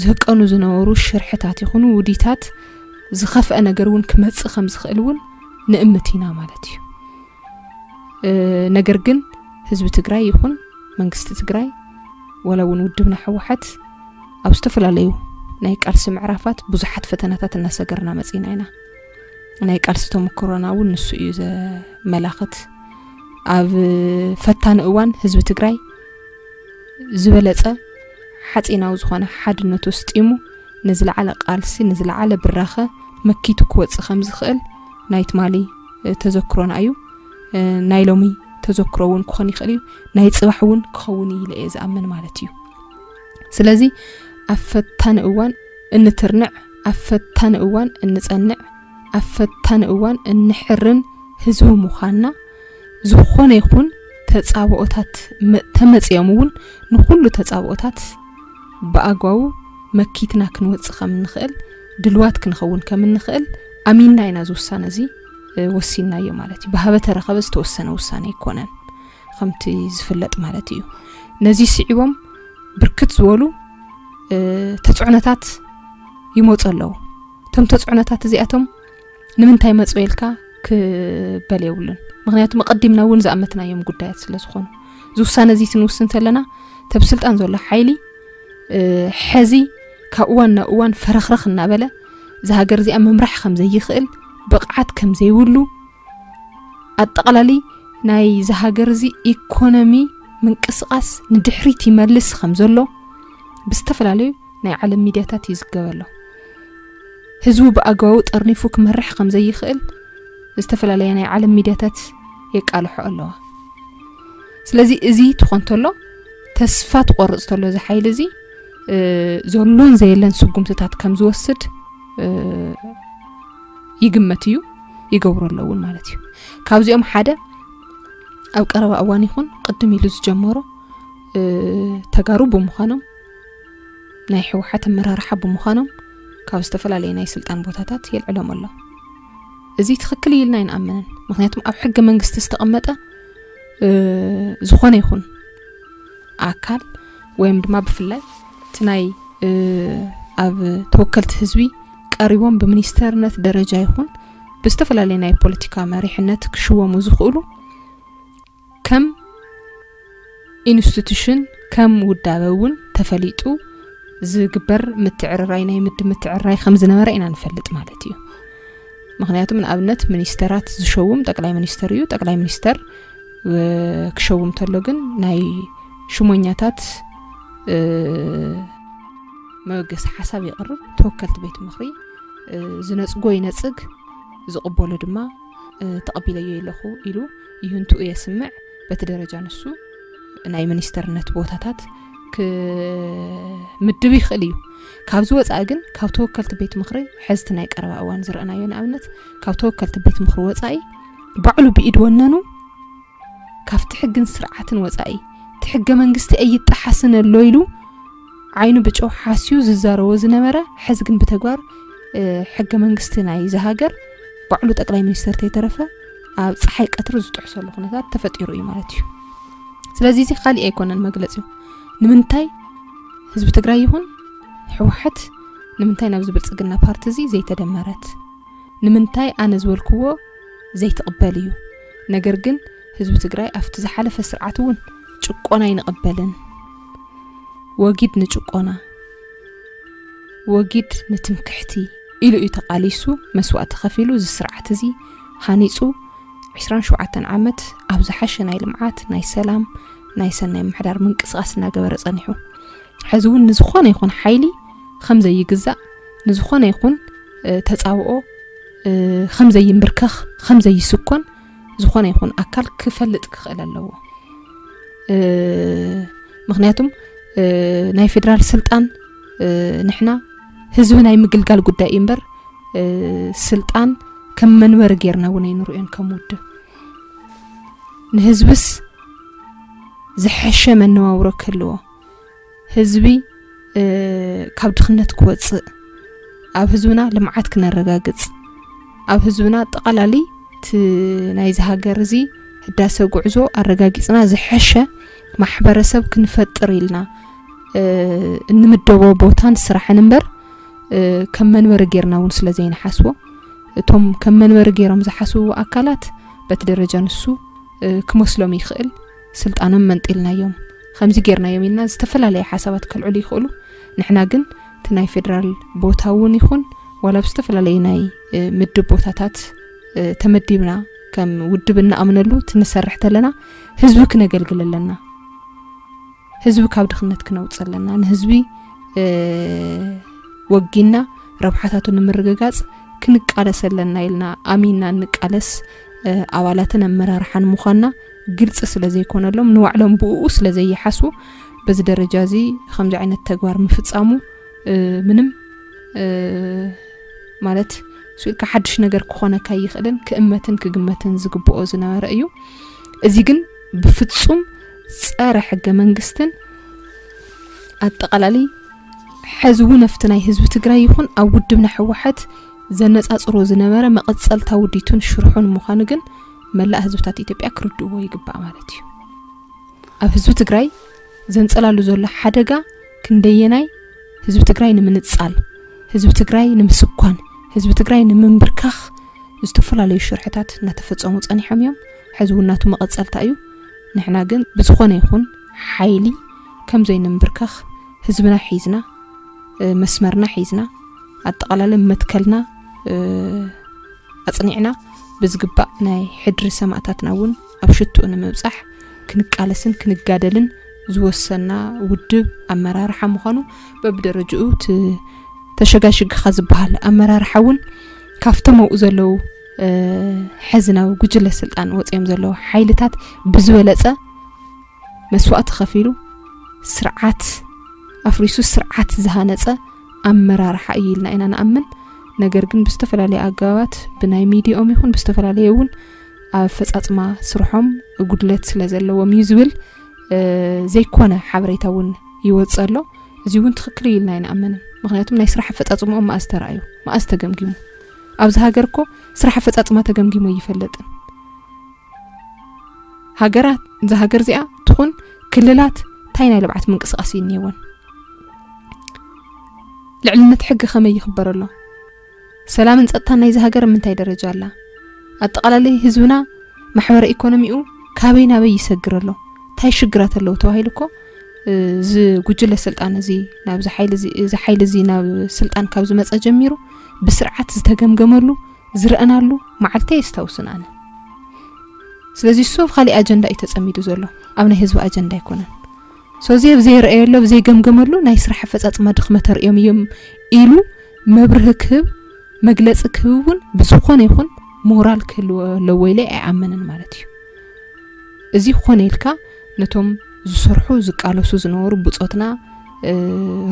ዝህቀኑ ዝነበሩ ሽርሕታት ይኹኑ ውዲታት ዝኸፍአ ነገር እውን ክመፅእ ከም ዝኽእል እውን ንእምት ኢና ማለት እዩ። ነገር ግን ህዝቢ ትግራይ ይኹን መንግስቲ ትግራይ ዋላ እውን ውድብና ህወሓት ኣብ ዝተፈላለዩ ናይ ቃልሲ ምዕራፋት ብዙሓት ፈተናታት እናሰገርና መፂና ኢና። ናይ ቃልሲ ተመክሮና እውን ንሱ እዩ ዘመላኽት። ኣብ ፈታኒ እዋን ህዝቢ ትግራይ ዝበለፀ ሓፂናዊ ዝኾነ ሓድነቱ ስጢሙ ንዝለዓለ ቃልሲ ንዝለዓለ ብራኸ መኪቱ ክወፅእ ከም ዝኽእል ናይ ትማሊ ተዘክሮና እዩ። ናይ ሎሚ ተዘክሮ እውን ክኾን ይኽእል እዩ፣ ናይ ፅባሕ እውን ክኸውን እዩ ኢለ እየ ዝኣምን ማለት እዩ። ስለዚ ኣብ ፈታኒ እዋን እንትርንዕ፣ ኣብ ፈታኒ እዋን እንፀንዕ፣ ኣብ ፈታኒ እዋን እንሕርን ህዝቢ ምዃንና ዝኾነ ይኹን ተፃብኦታት ተመፅኦም እውን ንኩሉ ተፃብኦታት ብኣግባቡ መኪትና ክንወፅእ ከም እንኽእል ድልዋት ክንኸውን ከም እንኽእል ኣሚንና ኢና እዚ ውሳነ እዚ ወሲንናዮ ማለት እዩ። ብሃበ ተረኸበ ዝተወሰነ ውሳነ ኣይኮነን ከምቲ ዝፍለጥ ማለት እዩ። ነዚ ስዒቦም ብርክት ዝበሉ ተፅዕኖታት ይመፁ ኣለዉ። እቶም ተፅዕኖታት እዚኣቶም ንምንታይ መፁ ኢልካ ክበል የብሉን። ምክንያቱ መቐዲምና እውን ዝኣመትናዮም ጉዳያት ስለ ዝኾኑ እዚ ውሳነ እዚ ትንውስን ተለና ተብ ስልጣን ዘሎ ሓይሊ ሕዚ ካብ እዋን ናብ እዋን ፈረኽረኽ እናበለ እዛ ሃገር እዚኣ ምምራሕ ከም ዘይኽእል ብቕዓት ከም ዘይብሉ ኣጠቓላሊ ናይ እዚ ሃገር እዚ ኢኮኖሚ ምንቅስቃስ ንድሕሪት ይመልስ ከም ዘሎ ብዝተፈላለዩ ናይ ዓለም ሚድያታት ይዝገብ ኣሎ። ህዝቡ ብኣግባቡ ጠርኒፉ ክመርሕ ከም ዘይኽእል ዝተፈላለያ ናይ ዓለም ሚድያታት የቃልሖ ኣለዋ። ስለዚ እዚ ትኾን ተሎ ተስፋ ትቆርፅ ተሎ እዚ ሓይሊ እዚ ዘሎን ዘየለን ስጉምትታት ከም ዝወስድ ይግመት እዩ፣ ይገብሮ ኣሎ እውን ማለት እዩ። ካብዚኦም ሓደ ኣብ ቀረባ እዋን ይኹን ቅድም ኢሉ ዝጀመሮ ተጋሩ ብምዃኖም ናይ ህወሓት ኣመራርሓ ብምዃኖም ካብ ዝተፈላለየ ናይ ስልጣን ቦታታት የልዕሎም ኣሎ። እዚ ትኽክል እዩ ኢልና ኣይንኣምንን። ምክንያቱም ኣብ ሕገ መንግስቲ ዝተቐመጠ ዝኾነ ይኹን ኣካል ወይም ድማ ብፍላይ እቲ ናይ ኣብ ተወከልቲ ህዝቢ ቀሪቦም ብሚኒስተርነት ደረጃ ይኹን ብዝተፈላለየ ናይ ፖለቲካ መሪሕነት ክሽወሙ ዝኽእሉ ከም ኢንስቲቱሽን ከም ውዳበ እውን ተፈሊጡ ዝግበር ምትዕርራይ፣ ናይ ምድብ ምትዕርራይ ከም ዝነበረ ኢና ንፈልጥ ማለት እዩ። ምኽንያቱም ንኣብነት ሚኒስተራት ዝሸውም ጠቅላይ ሚኒስተር እዩ። ጠቅላይ ሚኒስተር ክሸውም ተሎ ግን ናይ ሽሞኛታት መበገሲ ሓሳብ ይቕርብ። ተወከልቲ ቤት ምኽሪ ዝነጽጎ ይነጽግ፣ ዝቕበሎ ድማ ተቐቢለዮ ኣለኹ ኢሉ ይህንትኡ የስምዕ። በቲ ደረጃ ንሱ ናይ ሚኒስተርነት ቦታታት ክምድብ ይኽእል እዩ። ካብዚ ወፃኢ ግን ካብ ተወከልቲ ቤት ምኽሪ፣ ሕዝቲ ናይ ቀረባ እዋን ዝረኣናዮ ንኣብነት ካብ ተወከልቲ ቤት ምኽሪ ወፃኢ ባዕሉ ብኢድ ወነኑ ካብቲ ሕግን ስርዓትን ወፃኢ እቲ ሕገ መንግስቲ ኣይጠሓስን ኣሎ ኢሉ ዓይኑ ብጨው ሓስዩ ዝዛረቦ ዝነበረ፣ ሕዚ ግን ብተግባር ሕገ መንግስቲ ናይ ዝሃገር ባዕሉ ጠቅላይ ሚኒስተር ተይተረፈ ኣብ ፀሓይ ቀትሪ ዝጥሕሰሉ ኩነታት ተፈጢሩ እዩ ማለት እዩ። ስለዚ እዚ ካሊእ ኣይኮነን መግለፂ እዩ። ንምንታይ ህዝቢ ትግራይ ይኹን ህወሓት ንምንታይ ናብዚ ብልፅግና ፓርቲ እዚ ዘይተደመረት? ንምንታይ ኣነ ዝበልክዎ ዘይትቕበል እዩ? ነገር ግን ህዝቢ ትግራይ ኣብቲ ዝሓለፈ ስርዓት እውን ጭቆና ኣይንቕበልን፣ ወጊድ ንጭቆና፣ ወጊድ ንትምክሕቲ ኢሉ እዩ ተቓሊሱ፣ መስዋእቲ ከፊሉ፣ እዚ ስርዓት እዚ ሃኒፁ፣ ዕስራን ሸውዓተን ዓመት ኣብ ዝሓሸ ናይ ልምዓት፣ ናይ ሰላም፣ ናይ ሰናይ ምሕዳር ምንቅስቃስ እናገበረ ጸኒሑ። ሕዚ እውን ንዝኾነ ይኹን ሓይሊ ከም ዘይግዛእ፣ ንዝኾነ ይኹን ተጻብኦ ከም ዘይንብርከኽ፣ ከም ዘይስኮን ዝኾነ ይኹን ኣካል ክፈልጥ ክኽእል ኣለዎ። ምኽንያቱም ናይ ፌደራል ስልጣን ንሕና ህዝቢ ናይ ምግልጋል ጉዳይ እዩ እምበር፣ ስልጣን ከም መንበሪ ጌርና እውን ኣይንርእዮን ከም ውድብ። ንህዝብስ ዝሐሸ መነባብሮ ክህልዎ፣ ህዝቢ ካብ ድኽነት ክወፅእ፣ ኣብ ህዝብና ልምዓት ክነረጋግፅ፣ ኣብ ህዝብና ኣጠቓላሊ እቲ ናይዚ ሃገር እዚ ህዳሰ ጉዕዞ ኣረጋጊፅና ዝሐሸ ማሕበረሰብ ክንፈጥር ኢልና እንምደቦ ቦታን ስራሕን እምበር ከም መንበሪ ጌርና እውን ስለ ዘይንሓስቦ፣ እቶም ከም መንበሪ ጌሮም ዝሓስብዎ ኣካላት በቲ ደረጃ ንሱ ክመስሎም ይኽእል፣ ስልጣኖም መንጢልናዮም፣ ከምዚ ጌርናዮም ኢልና ዝተፈላለየ ሓሳባት ከልዕሉ ይኽእሉ። ንሕና ግን እቲ ናይ ፌደራል ቦታ እውን ይኹን ዋላ ብዝተፈላለየ ናይ ምድብ ቦታታት ተመዲብና ከም ውድብ እንኣምነሉ ትንሰርሕ ተለና ህዝቢ ክነገልግል ኣለና። ህዝቢ ካብ ድኽነት ክነውፅእ ኣለና። ንህዝቢ ወጊና ረብሓታቱ ንምርግጋፅ ክንቃለስ ኣለና ኢልና ኣሚንና እንቃለስ ኣባላትን ኣመራርሓን ምዃንና ግልፂ ስለ ዘይኮነሎም፣ ንባዕሎም ብእኡ ስለ ዘይሓስቡ፣ በዚ ደረጃ እዚ ከምዚ ዓይነት ተግባር ምፍፃሙ ምንም ማለት ስኢልካ ሓድሽ ነገር ክኾነካ ይኽእልን ክእመትን ክግመትን ዝግብኦ ዝነበረ እዩ። እዚ ግን ብፍፁም ፀረ ሕገ መንግስትን ኣጠቓላሊ ሕዚ እውን ኣብቲ ናይ ህዝቢ ትግራይ ይኹን ኣብ ውድብና ህወሓት ዘነፃፅሮ ዝነበረ መቐፀልታ ውዲቱን ሽርሑን ምዃኑ ግን መላእ ህዝብታት ኢትዮጵያ ክርድእዎ ይግባእ ማለት እዩ። ኣብ ህዝቢ ትግራይ ዘንፀላሉ ዘሎ ሓደጋ ክንደየናይ ህዝቢ ትግራይ ንምንፃል፣ ህዝቢ ትግራይ ንምስኳን፣ ህዝቢ ትግራይ ንምንብርካኽ ዝተፈላለዩ ሽርሕታት እናተፈፀሙ ፀኒሖም እዮም። ሕዚ እውን ናቱ መቐፀልታ እዩ። ንሕና ግን ብዝኾነ ይኹን ሓይሊ ከም ዘይንንብርከኽ ህዝብና ሒዝና፣ መስመርና ሒዝና፣ ኣጠቓላሊ መትከልና ኣፅኒዕና ብዝግባእ ናይ ሕድሪ ሰማእታትና እውን ኣብ ሽትኡ ንምብፃሕ ክንቃለስን ክንጋደልን ዝወሰና ውድብ ኣመራርሓ ምዃኑ በብደረጅኡ እቲ ተሸጋሽግኻ ዝበሃል ኣመራርሓ እውን ካብቶም ኣብኡ ዘለዉ ሕዚ ናብ ጉጅለ ስልጣን ወፂኦም ዘለዉ ሓይልታት ብዝበለፀ መስዋእቲ ከፊሉ ስርዓት ኣፍሪሱ ስርዓት ዝሃነፀ ኣመራርሓ እዩ ኢልና ኢና ንኣምን። ነገር ግን ብዝተፈላለየ ኣገባባት ብናይ ሚዲኦም ይኹን ብዝተፈላለየ እውን ኣብ ኣፈፃፅማ ስርሖም ጉድለት ስለ ዘለዎም እዩ ዝብል ዘይኮነ ሓበሬታ እውን ይወፅእ ኣሎ። እዚ እውን ትኽክል እዩ ኢልና ኣይንኣምንን። ምኽንያቱም ናይ ስራሕ ኣፈፃፅምኦም መኣዝ ተራእዩ፣ መኣዝ ተገምጊሙ? ኣብዚ ሃገር እኮ ስራሕ ኣፈፃፅማ ተገምጊሙ ኣይፈልጥን። ሃገራት፣ እዛ ሃገር እዚኣ ትኹን ክልላት እንታይ ናይ ልብዓት ምንቅስቃስ እዩ እኒሄወን? ልዕልነት ሕጊ ከመይ ይኽበር ኣሎ? ሰላምን ፀጥታን ናይዚ ሃገር ኣብ ምንታይ ደረጃ ኣላ? ኣጠቓላሊ ህዝብና ማሕበረ ኢኮኖሚኡ ካበይ ናበይ ይሰግር ኣሎ? እንታይ ሽግራት ኣለዉ ተባሂሉ እኮ እዚ ጉጅለ ስልጣን እዚ ናብዚ ሓይሊ እዚ፣ እዚ ሓይሊ እዚ ናብ ስልጣን ካብ ዝመጸ ጀሚሩ ብስርዓት ዝተገምገመሉ ዝረአናሉ መዓልቲ የስታውስን ኣነ። ስለዚ እሱ ኣብ ካሊእ ኣጀንዳ እዩ ተጸሚዱ ዘሎ፣ ኣብ ናይ ህዝቢ ኣጀንዳ ኣይኮነን። ሶዚ ኣብ ዘይረኣየሉ፣ ኣብ ዘይገምገመሉ ናይ ስራሕ ኣፈጻጽማ ድኽመት ኣርእዮም እዮም ኢሉ መብርሂ ክህብ፣ መግለጺ ክህብ እውን ብዝኾነ ይኹን ሞራል ክህልዎ ኣለዎ ኢለ ኣይኣምንን ማለት እዩ። እዚ ክኾነ ኢልካ ነቶም ዝሰርሑ ዝቃለሱ ዝነበሩ ብጾትና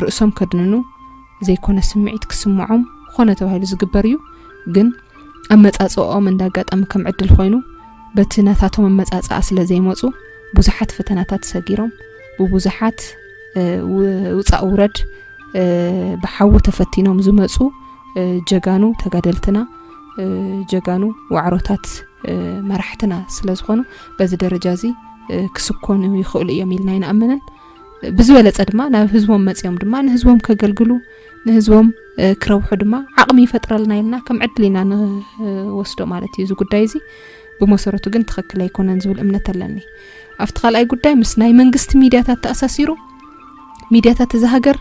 ርእሶም ከድንኑ ዘይኮነ ስምዒት ክስምዖም ኾነ ተባሂሉ ዝግበር እዩ። ግን ኣመጻጽኦም እንዳ ኣጋጣሚ ከም ዕድል ኮይኑ በቲ ናታቶም ኣመጻጽኣ ስለ ዘይመጹ ብዙሓት ፈተናታት ሰጊሮም ብብዙሓት ውጻእ ውረድ ብሓዊ ተፈቲኖም ዝመጹ ጀጋኑ ተጋደልትና፣ ጀጋኑ ዋዕሮታት መራሕትና ስለ ዝኾኑ በዚ ደረጃ እዚ ክስኮኑ ይኽእሉ እዮም ኢልና ኣይንኣምንን። ብዝበለጸ ድማ ናብ ህዝቦም መጺኦም ድማ ንህዝቦም ከገልግሉ፣ ንህዝቦም ክረብሑ ድማ ዓቕሚ ይፈጥረልና ኢልና ከም ዕድል ኢና ንወስዶ ማለት እዩ። እዚ ጉዳይ እዚ ብመሰረቱ ግን ትኽክል ኣይኮነን ዝብል እምነት ኣለኒ። ኣብቲ ካልኣይ ጉዳይ ምስ ናይ መንግስቲ ሚድያታት ተኣሳሲሩ ሚድያታት እዚ ሃገር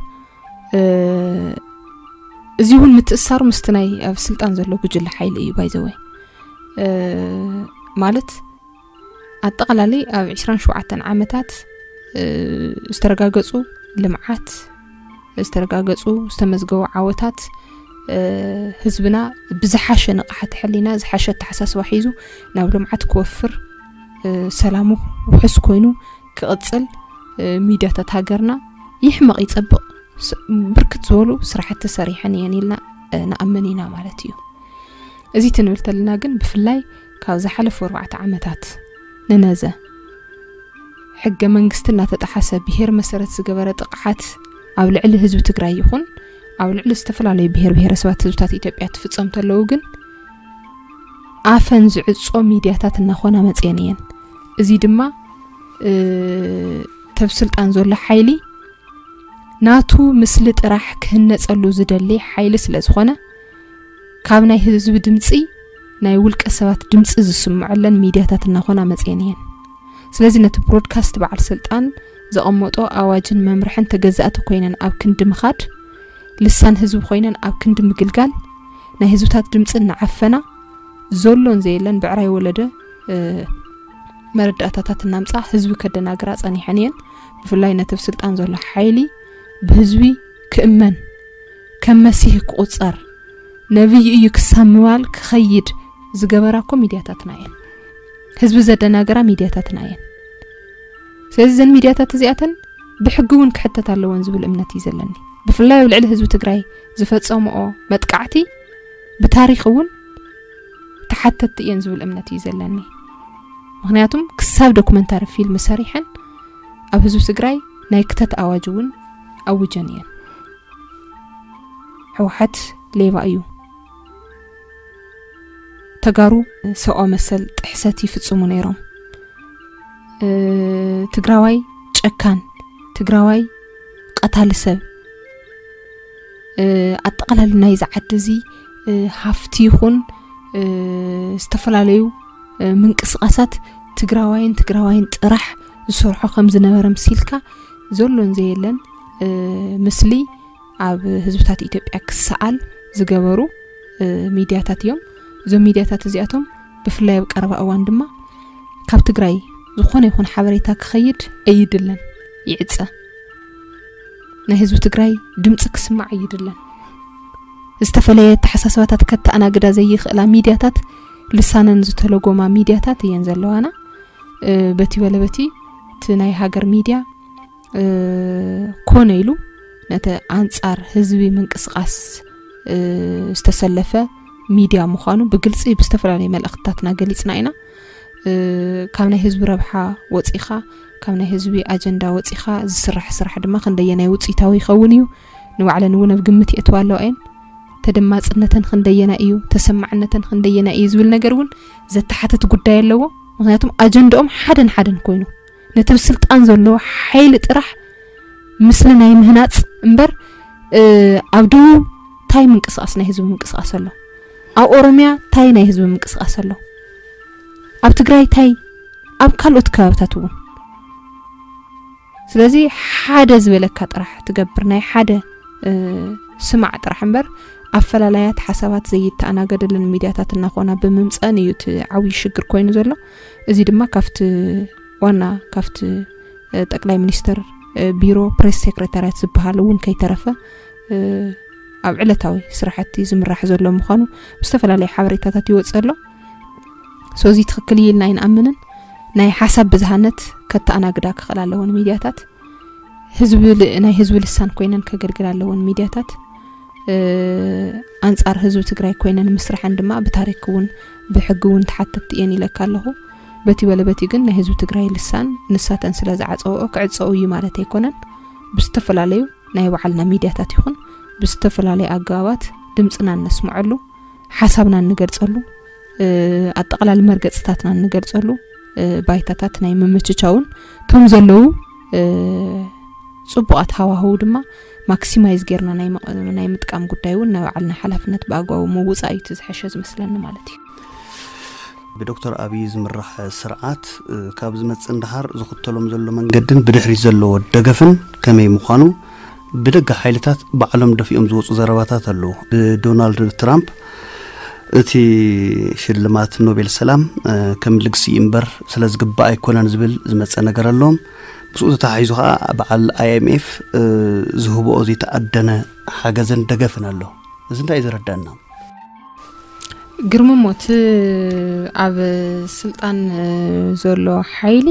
እዚ እውን ምትእሳሩ ምስቲ ናይ ኣብ ስልጣን ዘሎ ጉጅለ ሓይሊ እዩ። ባይዘወይ ማለት ኣጠቓላሊ ኣብ ዕስራን ሸውዓተን ዓመታት ዝተረጋገጹ ልምዓት፣ ዝተረጋገጹ ዝተመዝገቡ ዓወታት ህዝብና ብዝሓሸ ንቕሓት ሕሊና ዝሓሸ ኣተሓሳስባ ሒዙ ናብ ልምዓት ክወፍር፣ ሰላሙ ውሑስ ኮይኑ ክቕጽል፣ ሚድያታት ሃገርና ይሕመቕ ይጸብቕ ብርክት ዝበሉ ስራሕቲ ሰሪሐን እየን ኢልና ንኣምን ኢና ማለት እዩ። እዚ ትንብል ተለና ግን ብፍላይ ካብ ዝሓለፉ ኣርባዕተ ዓመታት ንነዘ ሕገ መንግስቲ እናተጠሓሰ ብሄር መሰረት ዝገበረ ጥቕዓት ኣብ ልዕሊ ህዝቢ ትግራይ ይኹን ኣብ ልዕሊ ዝተፈላለዩ ብሄር ብሄረሰባት ህዝብታት ኢትዮጵያ ትፍጸም ተለዉ ግን ኣፈን ዝዕጾ ሚድያታት እናኾና መጽየን እየን። እዚ ድማ ተብ ስልጣን ዘሎ ሓይሊ ናቱ ምስሊ ጥራሕ ክህነጸሉ ዝደሊ ሓይሊ ስለ ዝኾነ ካብ ናይ ህዝቢ ድምጺ ናይ ውልቀ ሰባት ድምጺ ዝስምዐለን ሚድያታት እናኾና መጽየን እየን። ስለዚ ነቲ ብሮድካስት በዓል ስልጣን ዘቐመጦ ኣዋጅን መምርሕን ተገዛእቲ ኮይነን ኣብ ክንዲ ምኻድ፣ ልሳን ህዝቢ ኮይነን ኣብ ክንዲ ምግልጋል፣ ናይ ህዝብታት ድምጺ እናዓፈና ዘሎን ዘየለን ብዕራይ ወለደ መረዳእታታት እናምጻ ህዝቢ ከደናግራ ጸኒሐን እየን። ብፍላይ ነቲ ኣብ ስልጣን ዘሎ ሓይሊ ብህዝቢ ክእመን ከም መሲህ ክቑጸር ነብይ እዩ ክሳብ ምባል ክኸይድ ዝገበራ እኮ ሚድያታትና እየን። ህዝቢ ዘደናገራ ሚድያታትና እየን። ስለዚ እዘን ሚድያታት እዚኣተን ብሕጊ እውን ክሕተት ኣለወን ዝብል እምነት እዩ ዘለኒ። ብፍላይ ኣብ ልዕሊ ህዝቢ ትግራይ ዝፈጸምኦ መጥቃዕቲ ብታሪኽ እውን ተሓተትቲ እየን ዝብል እምነት እዩ ዘለኒ። ምኽንያቱም ክሳብ ዶክመንታሪ ፊልም ሰሪሐን ኣብ ህዝቢ ትግራይ ናይ ክተት ኣዋጅ እውን ኣውጀን እየን። ህወሓት ሌባ እዩ። ተጋሩ ሰብኣዊ መሰል ጥሕሰት ይፍጽሙ ነይሮም። ትግራዋይ ጨካን፣ ትግራዋይ ቀታሊ ሰብ፣ ኣጠቓላሊ ናይዚ ዓዲ እዚ ሃፍቲ ይኹን ዝተፈላለዩ ምንቅስቓሳት ትግራዋይን ትግራዋይን ጥራሕ ዝሰርሖ ከም ዝነበረ ምሲልካ ዘሎን ዘየለን ምስሊ ኣብ ህዝብታት ኢትዮጵያ ክሰኣል ዝገበሩ ሚድያታት እዮም። እዞም ሚድያታት እዚኣቶም ብፍላይ ኣብ ቀረባ እዋን ድማ ካብ ትግራይ ዝኾነ ይኹን ሓበሬታ ክኸይድ ኣይድለን፣ ይዕጸ። ናይ ህዝቢ ትግራይ ድምፂ ክስማዕ ኣይድለን። ዝተፈለየ ኣተሓሳስባታት ከተኣናግዳ ዘይኽእላ ሚድያታት፣ ልሳነን ዝተለጎማ ሚድያታት እየን ዘለዋና። በቲ በለ በቲ እቲ ናይ ሃገር ሚድያ ኮነ ኢሉ ነቲ ኣንጻር ህዝቢ ምንቅስቓስ ዝተሰለፈ ሚድያ ምዃኑ ብግልፂ ብዝተፈላለዩ መልእኽትታትና ገሊፅና ኢና። ካብ ናይ ህዝቢ ረብሓ ወፂኻ፣ ካብ ናይ ህዝቢ ኣጀንዳ ወፂኻ ዝስራሕ ስራሕ ድማ ክንደየናይ ውፅኢታዊ ይኸውን እዩ፣ ንባዕለን እውን ኣብ ግምት የእትዋ ኣለዋ እየን። ተደማፅነተን ክንደየናይ እዩ፣ ተሰማዕነተን ክንደየናይ እዩ ዝብል ነገር እውን ዘተሓትት ጉዳይ ኣለዎ። ምክንያቱም ኣጀንዳኦም ሓደን ሓደን ኮይኑ ነቲ ብስልጣን ዘሎ ሓይሊ ጥራሕ ምስሊ ናይ ምህናፅ እምበር፣ ኣብ ደቡብ ታይ ምንቅስቃስ ናይ ህዝቢ ምንቅስቃስ ኣሎ፣ ኣብ ኦሮሚያ ታይ ናይ ህዝቢ ምንቅስቃስ ኣሎ፣ ኣብ ትግራይ ታይ፣ ኣብ ካልኦት ከባብታት እውን ስለዚ ሓደ ዝበለካ ጥራሕ ትገብር፣ ናይ ሓደ ስማዕ ጥራሕ እምበር ኣፈላላያት ሓሳባት ዘይተኣናገደለን ሚድያታት እናኾና ብምምፀን እዩ እቲ ዓብዪ ሽግር ኮይኑ ዘሎ። እዚ ድማ ካብቲ ዋና ካብቲ ጠቅላይ ሚኒስትር ቢሮ ፕሬስ ሴክሬታርያት ዝበሃል እውን ከይተረፈ ኣብ ዕለታዊ ስራሕቲ ዝምራሕ ዘሎ ምዃኑ ብዝተፈላለዩ ሓበሬታታት ይወፅእ ኣሎ። ሶ እዚ ትኽክል እዩ ኢልና ኣይንኣምንን። ናይ ሓሳብ ብዝሃነት ከተኣናግዳ ክኽእል ኣለዎን ሚድያታት ህዝቢ ል- ናይ ህዝቢ ልሳን ኮይነን ከገልግል ኣለዎን ሚድያታት ኣንጻር ህዝቢ ትግራይ ኮይነን ምስራሐን ድማ ብታሪክ እውን ብሕጊ እውን ተሓተቲ እየን ኢለካ ኣለኹ። በቲ በለ በቲ ግን ናይ ህዝቢ ትግራይ ልሳን ንሳተን ስለ ዝዓፀውኦ ክዕፀው እዩ ማለት ኣይኮነን። ብዝተፈላለዩ ናይ ባዕልና ሚድያታት ይኹን ብዝተፈላለዩ ኣገባባት ድምፅና እነስምዐሉ፣ ሓሳብና እንገልፀሉ፣ ኣጠቃላሊ መርገፅታትና እንገልፀሉ ባይታታት ናይ ምምችቻውን እቶም ዘለዉ ፅቡቃት ሃዋህው ድማ ማክሲማይዝ ጌርና ናይ ምጥቃም ጉዳይ እውን ናይ ባዕልና ሓላፍነት ብኣግባቡ ምውፃእ እዩ እቲ ዝሐሸ ዝመስለኒ ማለት እዩ። ብዶክተር ኣብይ ዝምራሕ ስርዓት ካብ ዝመፅእ ንደሓር ዝኽተሎም ዘሎ መንገድን ብድሕሪት ዘለዎ ደገፍን ከመይ ምዃኑ ብደገ ሓይልታት ባዕሎም ደፊኦም ዝወፁ ዘረባታት ኣለዉ። ብዶናልድ ትራምፕ እቲ ሽልማት ኖቤል ሰላም ከም ልግሲ እምበር ስለ ዝግባእ ኣይኮነን ዝብል ዝመፀ ነገር ኣሎ። ምስኡ ተታሒዙ ከዓ በዓል ኣይኤምኤፍ ዝህብኦ ዘይተኣደነ ሓገዘን ደገፍን ኣሎ። እዚ እንታይ እዩ ዘረዳና? ግርምሞት ኣብ ስልጣን ዘሎ ሓይሊ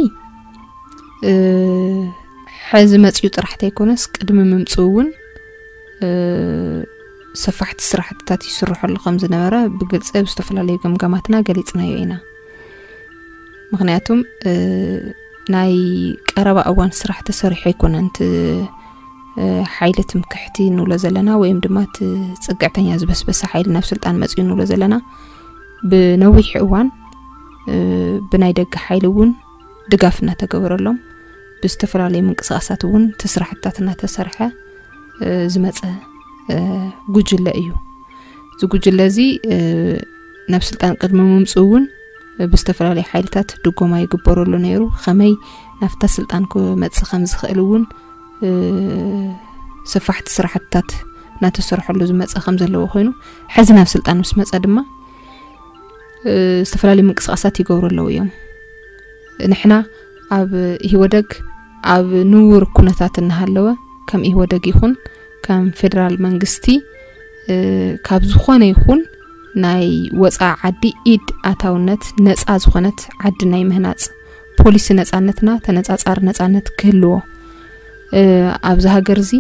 ሕዚ መፅኡ ጥራሕ ተይኮነስ ቅድሚ ምምፅኡ እውን ሰፋሕቲ ስራሕትታት ይስርሐሉ ከም ዝነበረ ብግልፂ ኣብ ዝተፈላለዩ ገምጋማትና ገሊፅናዮ ኢና። ምክንያቱም ናይ ቀረባ እዋን ስራሕ ተሰሪሑ ኣይኮነን። እቲ ሓይሊ ትምክሕቲ ንብሎ ዘለና ወይም ድማ እቲ ፅግዕተኛ ዝበስበሰ ሓይሊ ናብ ስልጣን መፅኡ ንብሎ ዘለና ብነዊሕ እዋን ብናይ ደገ ሓይሊ እውን ድጋፍ እናተገበረሎም ብዝተፈላለዩ ምንቅስቃሳት እውን እቲ ስራሕትታት እናተሰርሐ ዝመፀ ጉጅለ እዩ። እዚ ጉጅለ እዚ ናብ ስልጣን ቅድሚ ምምፅኡ እውን ብዝተፈላለዩ ሓይልታት ድጎማ ይግበረሉ ነይሩ። ከመይ ናብታ ስልጣን ክመፅእ ከም ዝኽእል እውን ሰፋሕቲ ስራሕትታት እናተሰርሐሉ ዝመፀ ከም ዘለዎ ኮይኑ ሕዚ ናብ ስልጣን ምስ መፀ ድማ ዝተፈላለዩ ምንቅስቃሳት ይገብሩ ኣለዉ እዮም። ንሕና ኣብ ኢህወደግ ኣብ ንውር ኩነታት እናሃለወ ከም ኢህወደግ ይኹን ከም ፌደራል መንግስቲ ካብ ዝኾነ ይኹን ናይ ወፃኢ ዓዲ ኢድ ኣታውነት ነፃ ዝኾነት ዓዲ ናይ ምህናፅ ፖሊሲ ነፃነትና ተነፃፃሪ ነፃነት ክህልዎ ኣብዚ ሃገር እዚ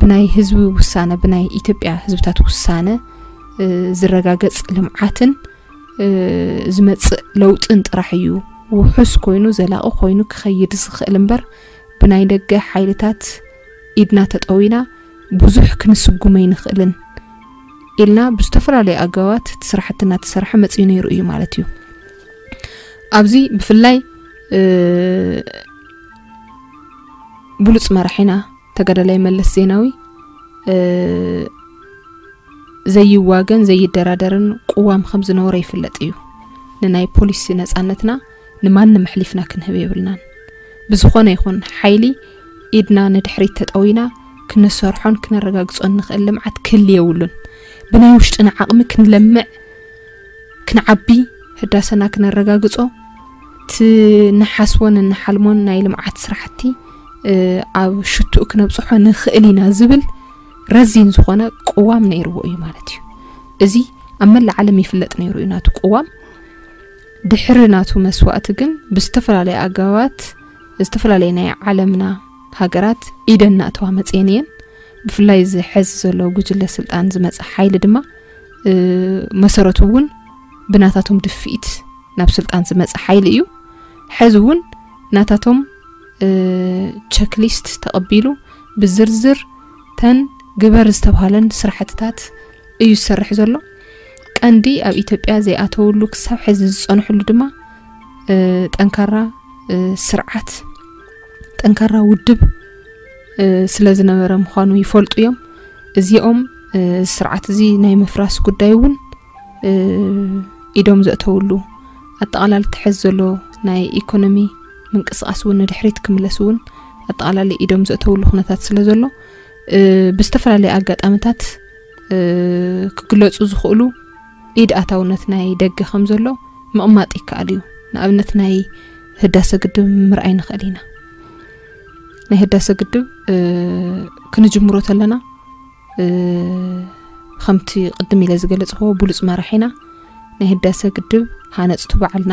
ብናይ ህዝቢ ውሳነ ብናይ ኢትዮጵያ ህዝብታት ውሳነ ዝረጋገፅ ልምዓትን ዝመፅእ ለውጥን ጥራሕ እዩ ውሑስ ኮይኑ ዘላቒ ኮይኑ ክኸይድ ዝኽእል እምበር ብናይ ደገ ሓይልታት ኢድና ተጠዊና ብዙሕ ክንስጉም ኣይንኽእልን ኢልና ብዝተፈላለዩ ኣገባባት እቲ ስራሕቲ እናተሰርሐ መፅኡ ነይሩ እዩ ማለት እዩ። ኣብዚ ብፍላይ ብሉፅ መራሒና ተጋዳላይ መለስ ዜናዊ ዘይዋገን ዘይደራደርን ቅዋም ከም ዝነበሮ ይፍለጥ እዩ። ንናይ ፖሊሲ ነፃነትና ንማንም ኣሕሊፍና ክንህብ የብልናን። ብዝኾነ ይኹን ሓይሊ ኢድና ንድሕሪት ተጠዊና ክንሰርሖን ክነረጋግጾን ንኽእል ልምዓት ክህሊ የብሉን። ብናይ ውሽጥና ዓቕሚ ክንለምዕ ክንዓቢ ህዳሰና ክነረጋግጾ እቲ ንሓስቦን እንሓልሞን ናይ ልምዓት ስራሕቲ ኣብ ሽትኡ ክነብፅሖ ንኽእል ኢና ዝብል ረዚን ዝኾነ ቅዋም ነይርዎ እዩ ማለት እዩ። እዚ ኣብ መላእ ዓለም ይፍለጥ ነይሩ እዩ ናቱ ቅዋም። ድሕሪ ናቱ መስዋእቲ ግን ብዝተፈላለየ ኣገባባት ዝተፈላለየ ናይ ዓለምና ሃገራት ኢደን እናእተዋ መፅየን እየን። ብፍላይ እዚ ሕዚ ዘሎ ጉጅለ ስልጣን ዝመፀ ሓይሊ ድማ መሰረቱ እውን ብናታቶም ድፍኢት ናብ ስልጣን ዝመፀ ሓይሊ እዩ። ሕዚ እውን ናታቶም ቸክሊስት ተቐቢሉ ብዝርዝር ተን ግበር ዝተባሃለን ስራሕትታት እዩ ዝሰርሕ ዘሎ። ቀንዲ ኣብ ኢትዮጵያ ዘይኣተውሉ ክሳብ ሕዚ ዝፀንሕሉ ድማ ጠንካራ ስርዓት ጠንካራ ውድብ ስለ ዝነበረ ምዃኑ ይፈልጡ እዮም። እዚኦም ስርዓት እዚ ናይ ምፍራስ ጉዳይ እውን ኢዶም ዘእተውሉ ኣጠቓላሊ ትሕዝ ዘሎ ናይ ኢኮኖሚ ምንቅስቃስ እውን ንድሕሪት ክምለስ እውን ኣጠቓላሊ ኢዶም ዘእተውሉ ኩነታት ስለ ዘሎ፣ እ፣ ብዝተፈላለየ ኣጋጣሚታት፣ እ፣ ክግለጹ ዝኽእሉ ኢድ ኣታውነት ናይ ደገ ከም ዘሎ ምቕማጥ ይከኣል እዩ። ንኣብነት ናይ ህዳሰ ግድብ ምርኣይ ንኽእል ኢና። ናይ ህዳሰ ግድብ፣ እ፣ ክንጅምሮ ተለና፣ እ፣ ከምቲ ቅድም ኢለ ዝገለጽክዎ ብሉጽ መራሒና፣ ናይ ህዳሰ ግድብ ሃነጽቱ በዓልና፣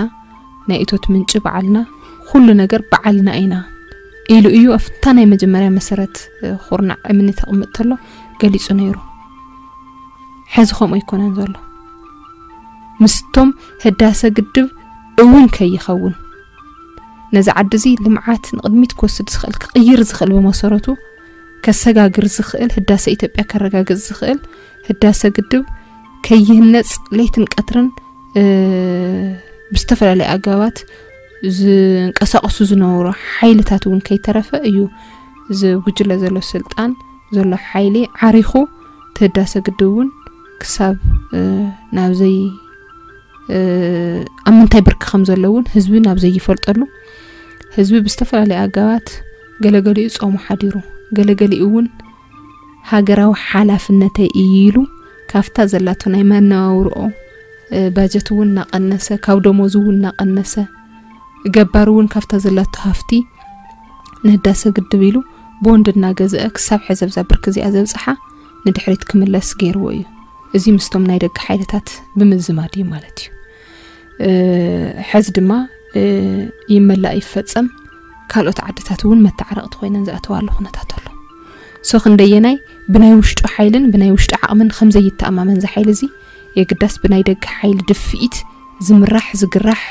ናይ እቶት ምንጪ በዓልና፣ ኩሉ ነገር በዓልና ኢና ኢሉ እዩ ኣብታ ናይ መጀመርያ መሰረት፣ እ፣ ኩርናዕ እምኒ ተቕምጥ ተሎ ገሊጹ ነይሩ። ሕዚ ከምኡ ኣይኮነን ዘሎ። ምስቶም ህዳሰ ግድብ እውን ከይኸውን፣ ነዚ ዓዲ እዚ ልምዓት ንቕድሚት ክወስድ ዝኽእል፣ ክቕይር ዝኽእል፣ ብመሰረቱ ከሰጋግር ዝኽእል፣ ህዳሰ ኢትዮጵያ ከረጋግጽ ዝኽእል ህዳሰ ግድብ ከይህነጽ ለይትን ቀትርን፣ እ፣ ብዝተፈላለየ ኣገባባት ዝንቀሳቐሱ ዝነበሩ ሓይልታት እውን ከይተረፈ እዩ እዚ ጉጅለ ዘሎ ስልጣን ዘሎ ሓይሊ ዓሪኹ እቲ ህዳሰ ግድብ እውን ክሳብ፣ እ፣ ናብ ዘይ-፣ እ፣ ኣብ ምንታይ ብርኪ ከም ዘሎ እውን ህዝቢ ናብ ዘይፈልጠሉ፣ ህዝቢ ብዝተፈላለየ ኣገባት ገለገሊኡ ጾሙ ሓዲሩ፣ ገለገሊኡ እውን ሃገራዊ ሓላፍነተይ እዩ ኢሉ ካብታ ዘላቶ ናይ መነባብርኦ፣ እ፣ ባጀት እውን እናቐነሰ፣ ካብ ደሞዝ እውን እናቐነሰ፣ ገባር እውን ካብታ ዘላቶ ሃፍቲ ንህዳሰ ግድብ ኢሉ ቦንድ እናገዝአ ክሳብ ሕዚ ኣብዛ ብርኪ እዚኣ ዘብጽሓ ንድሕሪት ክምለስ ገይርዎ እዩ። እዚ ምስቶም ናይ ደገ ሓይልታት ብምዝማድ እዩ ማለት እዩ። እ፣ ሕዚ ድማ፣ እ፣ ይመላእ ይፈጸም፣ ካልኦት ዓድታት እውን መተዓረቕቲ ኮይነን ዝኣተዋሉ ኩነታት ኣሎ። ሶ ክንደየናይ ብናይ ውሽጡ ሓይልን ብናይ ውሽጡ ዓቕምን ከም ዘይተኣማመን እዚ ሓይሊ እዚ የግዳስ ብናይ ደገ ሓይሊ ድፍኢት ዝምራሕ ዝግራሕ፣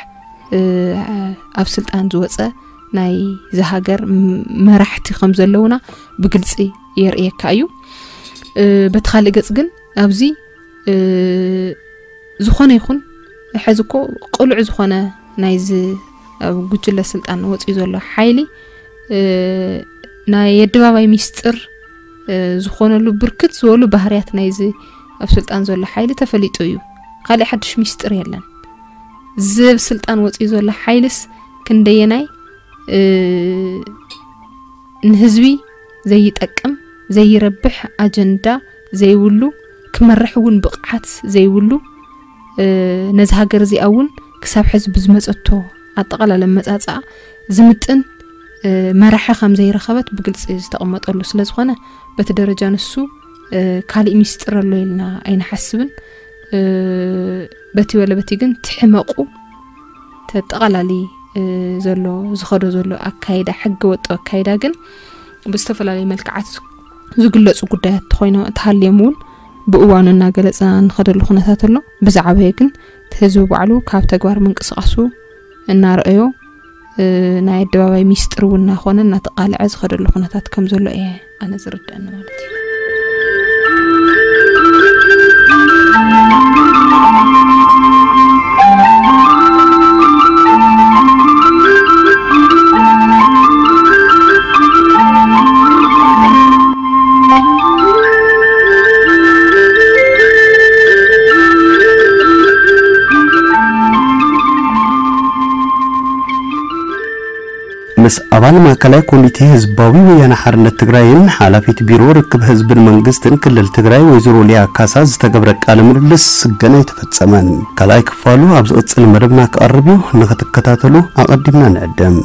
እ፣ ኣብ ስልጣን ዝወጸ ናይ ዝሃገር ም-፣ መራሕቲ ከም ዘለውና ብግልጺ የርእየካ እዩ። እ፣ በቲ ካልእ ገጽ ግን ኣብዚ፣ እ፣ ዝኾነ ይኹን ሕዚ እኮ ቅሉዕ ዝኾነ ናይዚ ኣብ ጉጅለ ስልጣን ወፂኡ ዘሎ ሓይሊ፣ እ፣ ናይ ኣደባባይ ሚስጥር፣ እ፣ ዝኾነሉ ብርክት ዝበሉ ባህርያት ናይዚ ኣብ ስልጣን ዘሎ ሓይሊ ተፈሊጡ እዩ። ካልእ ሓድሽ ሚስጥር የለን። እዚ ኣብ ስልጣን ወፂኡ ዘሎ ሓይልስ ክንደየናይ፣ እ፣ ንህዝቢ ዘይጠቅም፣ ዘይረብሕ ኣጀንዳ ዘይብሉ፣ ክመርሕ እውን ብቕዓት ዘይብሉ፣ እ፣ ነዚ ሃገር እዚኣ እውን ክሳብ ሕዚ ብዝመጸቶ ኣጠቓላሊ ኣመጻጽኣ ዝምጥን፣ እ፣ መራሒ ከም ዘይረኸበት ብግልጺ ዝተቐመጠሉ ስለ ዝኾነ፣ በቲ ደረጃ ንሱ፣ እ፣ ካሊእ ሚስጥር ኣሎ ኢልና ኣይንሓስብን። እ፣ በቲ ወለ በቲ ግን ትሕመቑ ተጠቓላሊ፣ እ፣ ዘሎ፣ ዝኸዶ ዘሎ ኣካይዳ፣ ሕገ ወጥ ኣካይዳ ግን ብዝተፈላለዩ መልክዓት ዝግለጹ ጉዳያት ተኾይኖ፣ ተሃልዮም እውን ብእዋኑ እናገለጽና እንኸደሉ ኩነታት ኣሎ። ብዝዓበየ ግን እቲ ህዝቢ ባዕሉ ካብ ተግባር ምንቅስቓሱ እናረኣዮ፣ እ፣ ናይ ኣደባባይ ሚስጥር እውን እናኾነ እናተቓልዐ ዝኸደሉ ኩነታት ከም ዘሎ እየ ኣነ ዝርድአኒ ማለት እዩ። ምስ ኣባል ማእከላይ ኮሚቴ ህዝባዊ ወያነ ሓርነት ትግራይን ሓላፊት ቢሮ ርክብ ህዝብን መንግስትን ክልል ትግራይ ወይዘሮ ሊያ ካሳ ዝተገብረ ቃለ ምልልስ ገና ኣይተፈጸመን። ካልኣይ ክፋሉ ኣብ ዝቕጽል መደብና ክቐርብ እዩ፣ ንኽትከታተሉ ኣቐዲምና ንዕድም።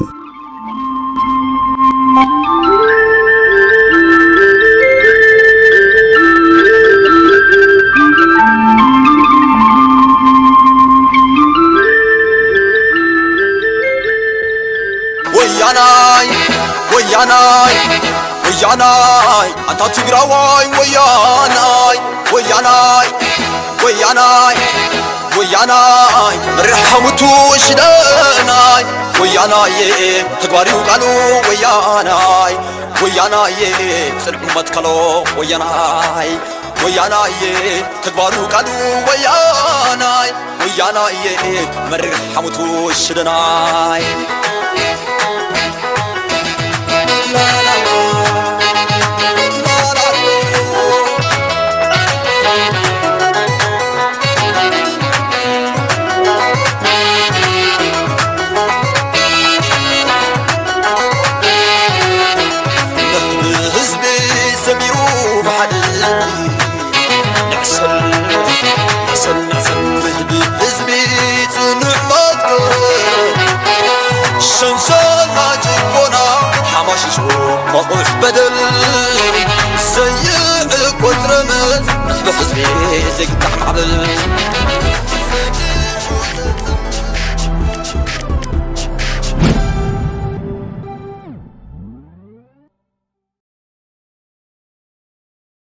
ወያናይ፣ ወያናይ፣ ወያናይ፣ ኣንታ ትግራዋይ፣ ወያናይ፣ ወያናይ፣ ወያናይ፣ ወያናይ፣ መሪሕ ሓሙቱ ሽደናይ፣ ወያናይ፣ ተግባሪው ቃሉ ወያናይ፣ ወያናይ፣ ጽልኡ መትከሎ ወያናይ፣ ወያናይ፣ ተግባሩ ቃሉ ወያናይ፣ ወያናይ፣ መሪሕ ሓሙቱ ሽደናይ። ቁሽ በደል ዘይዕቆጥረመ ንሕቢ ሕዝቢ ዘይግታዕ ማዕበል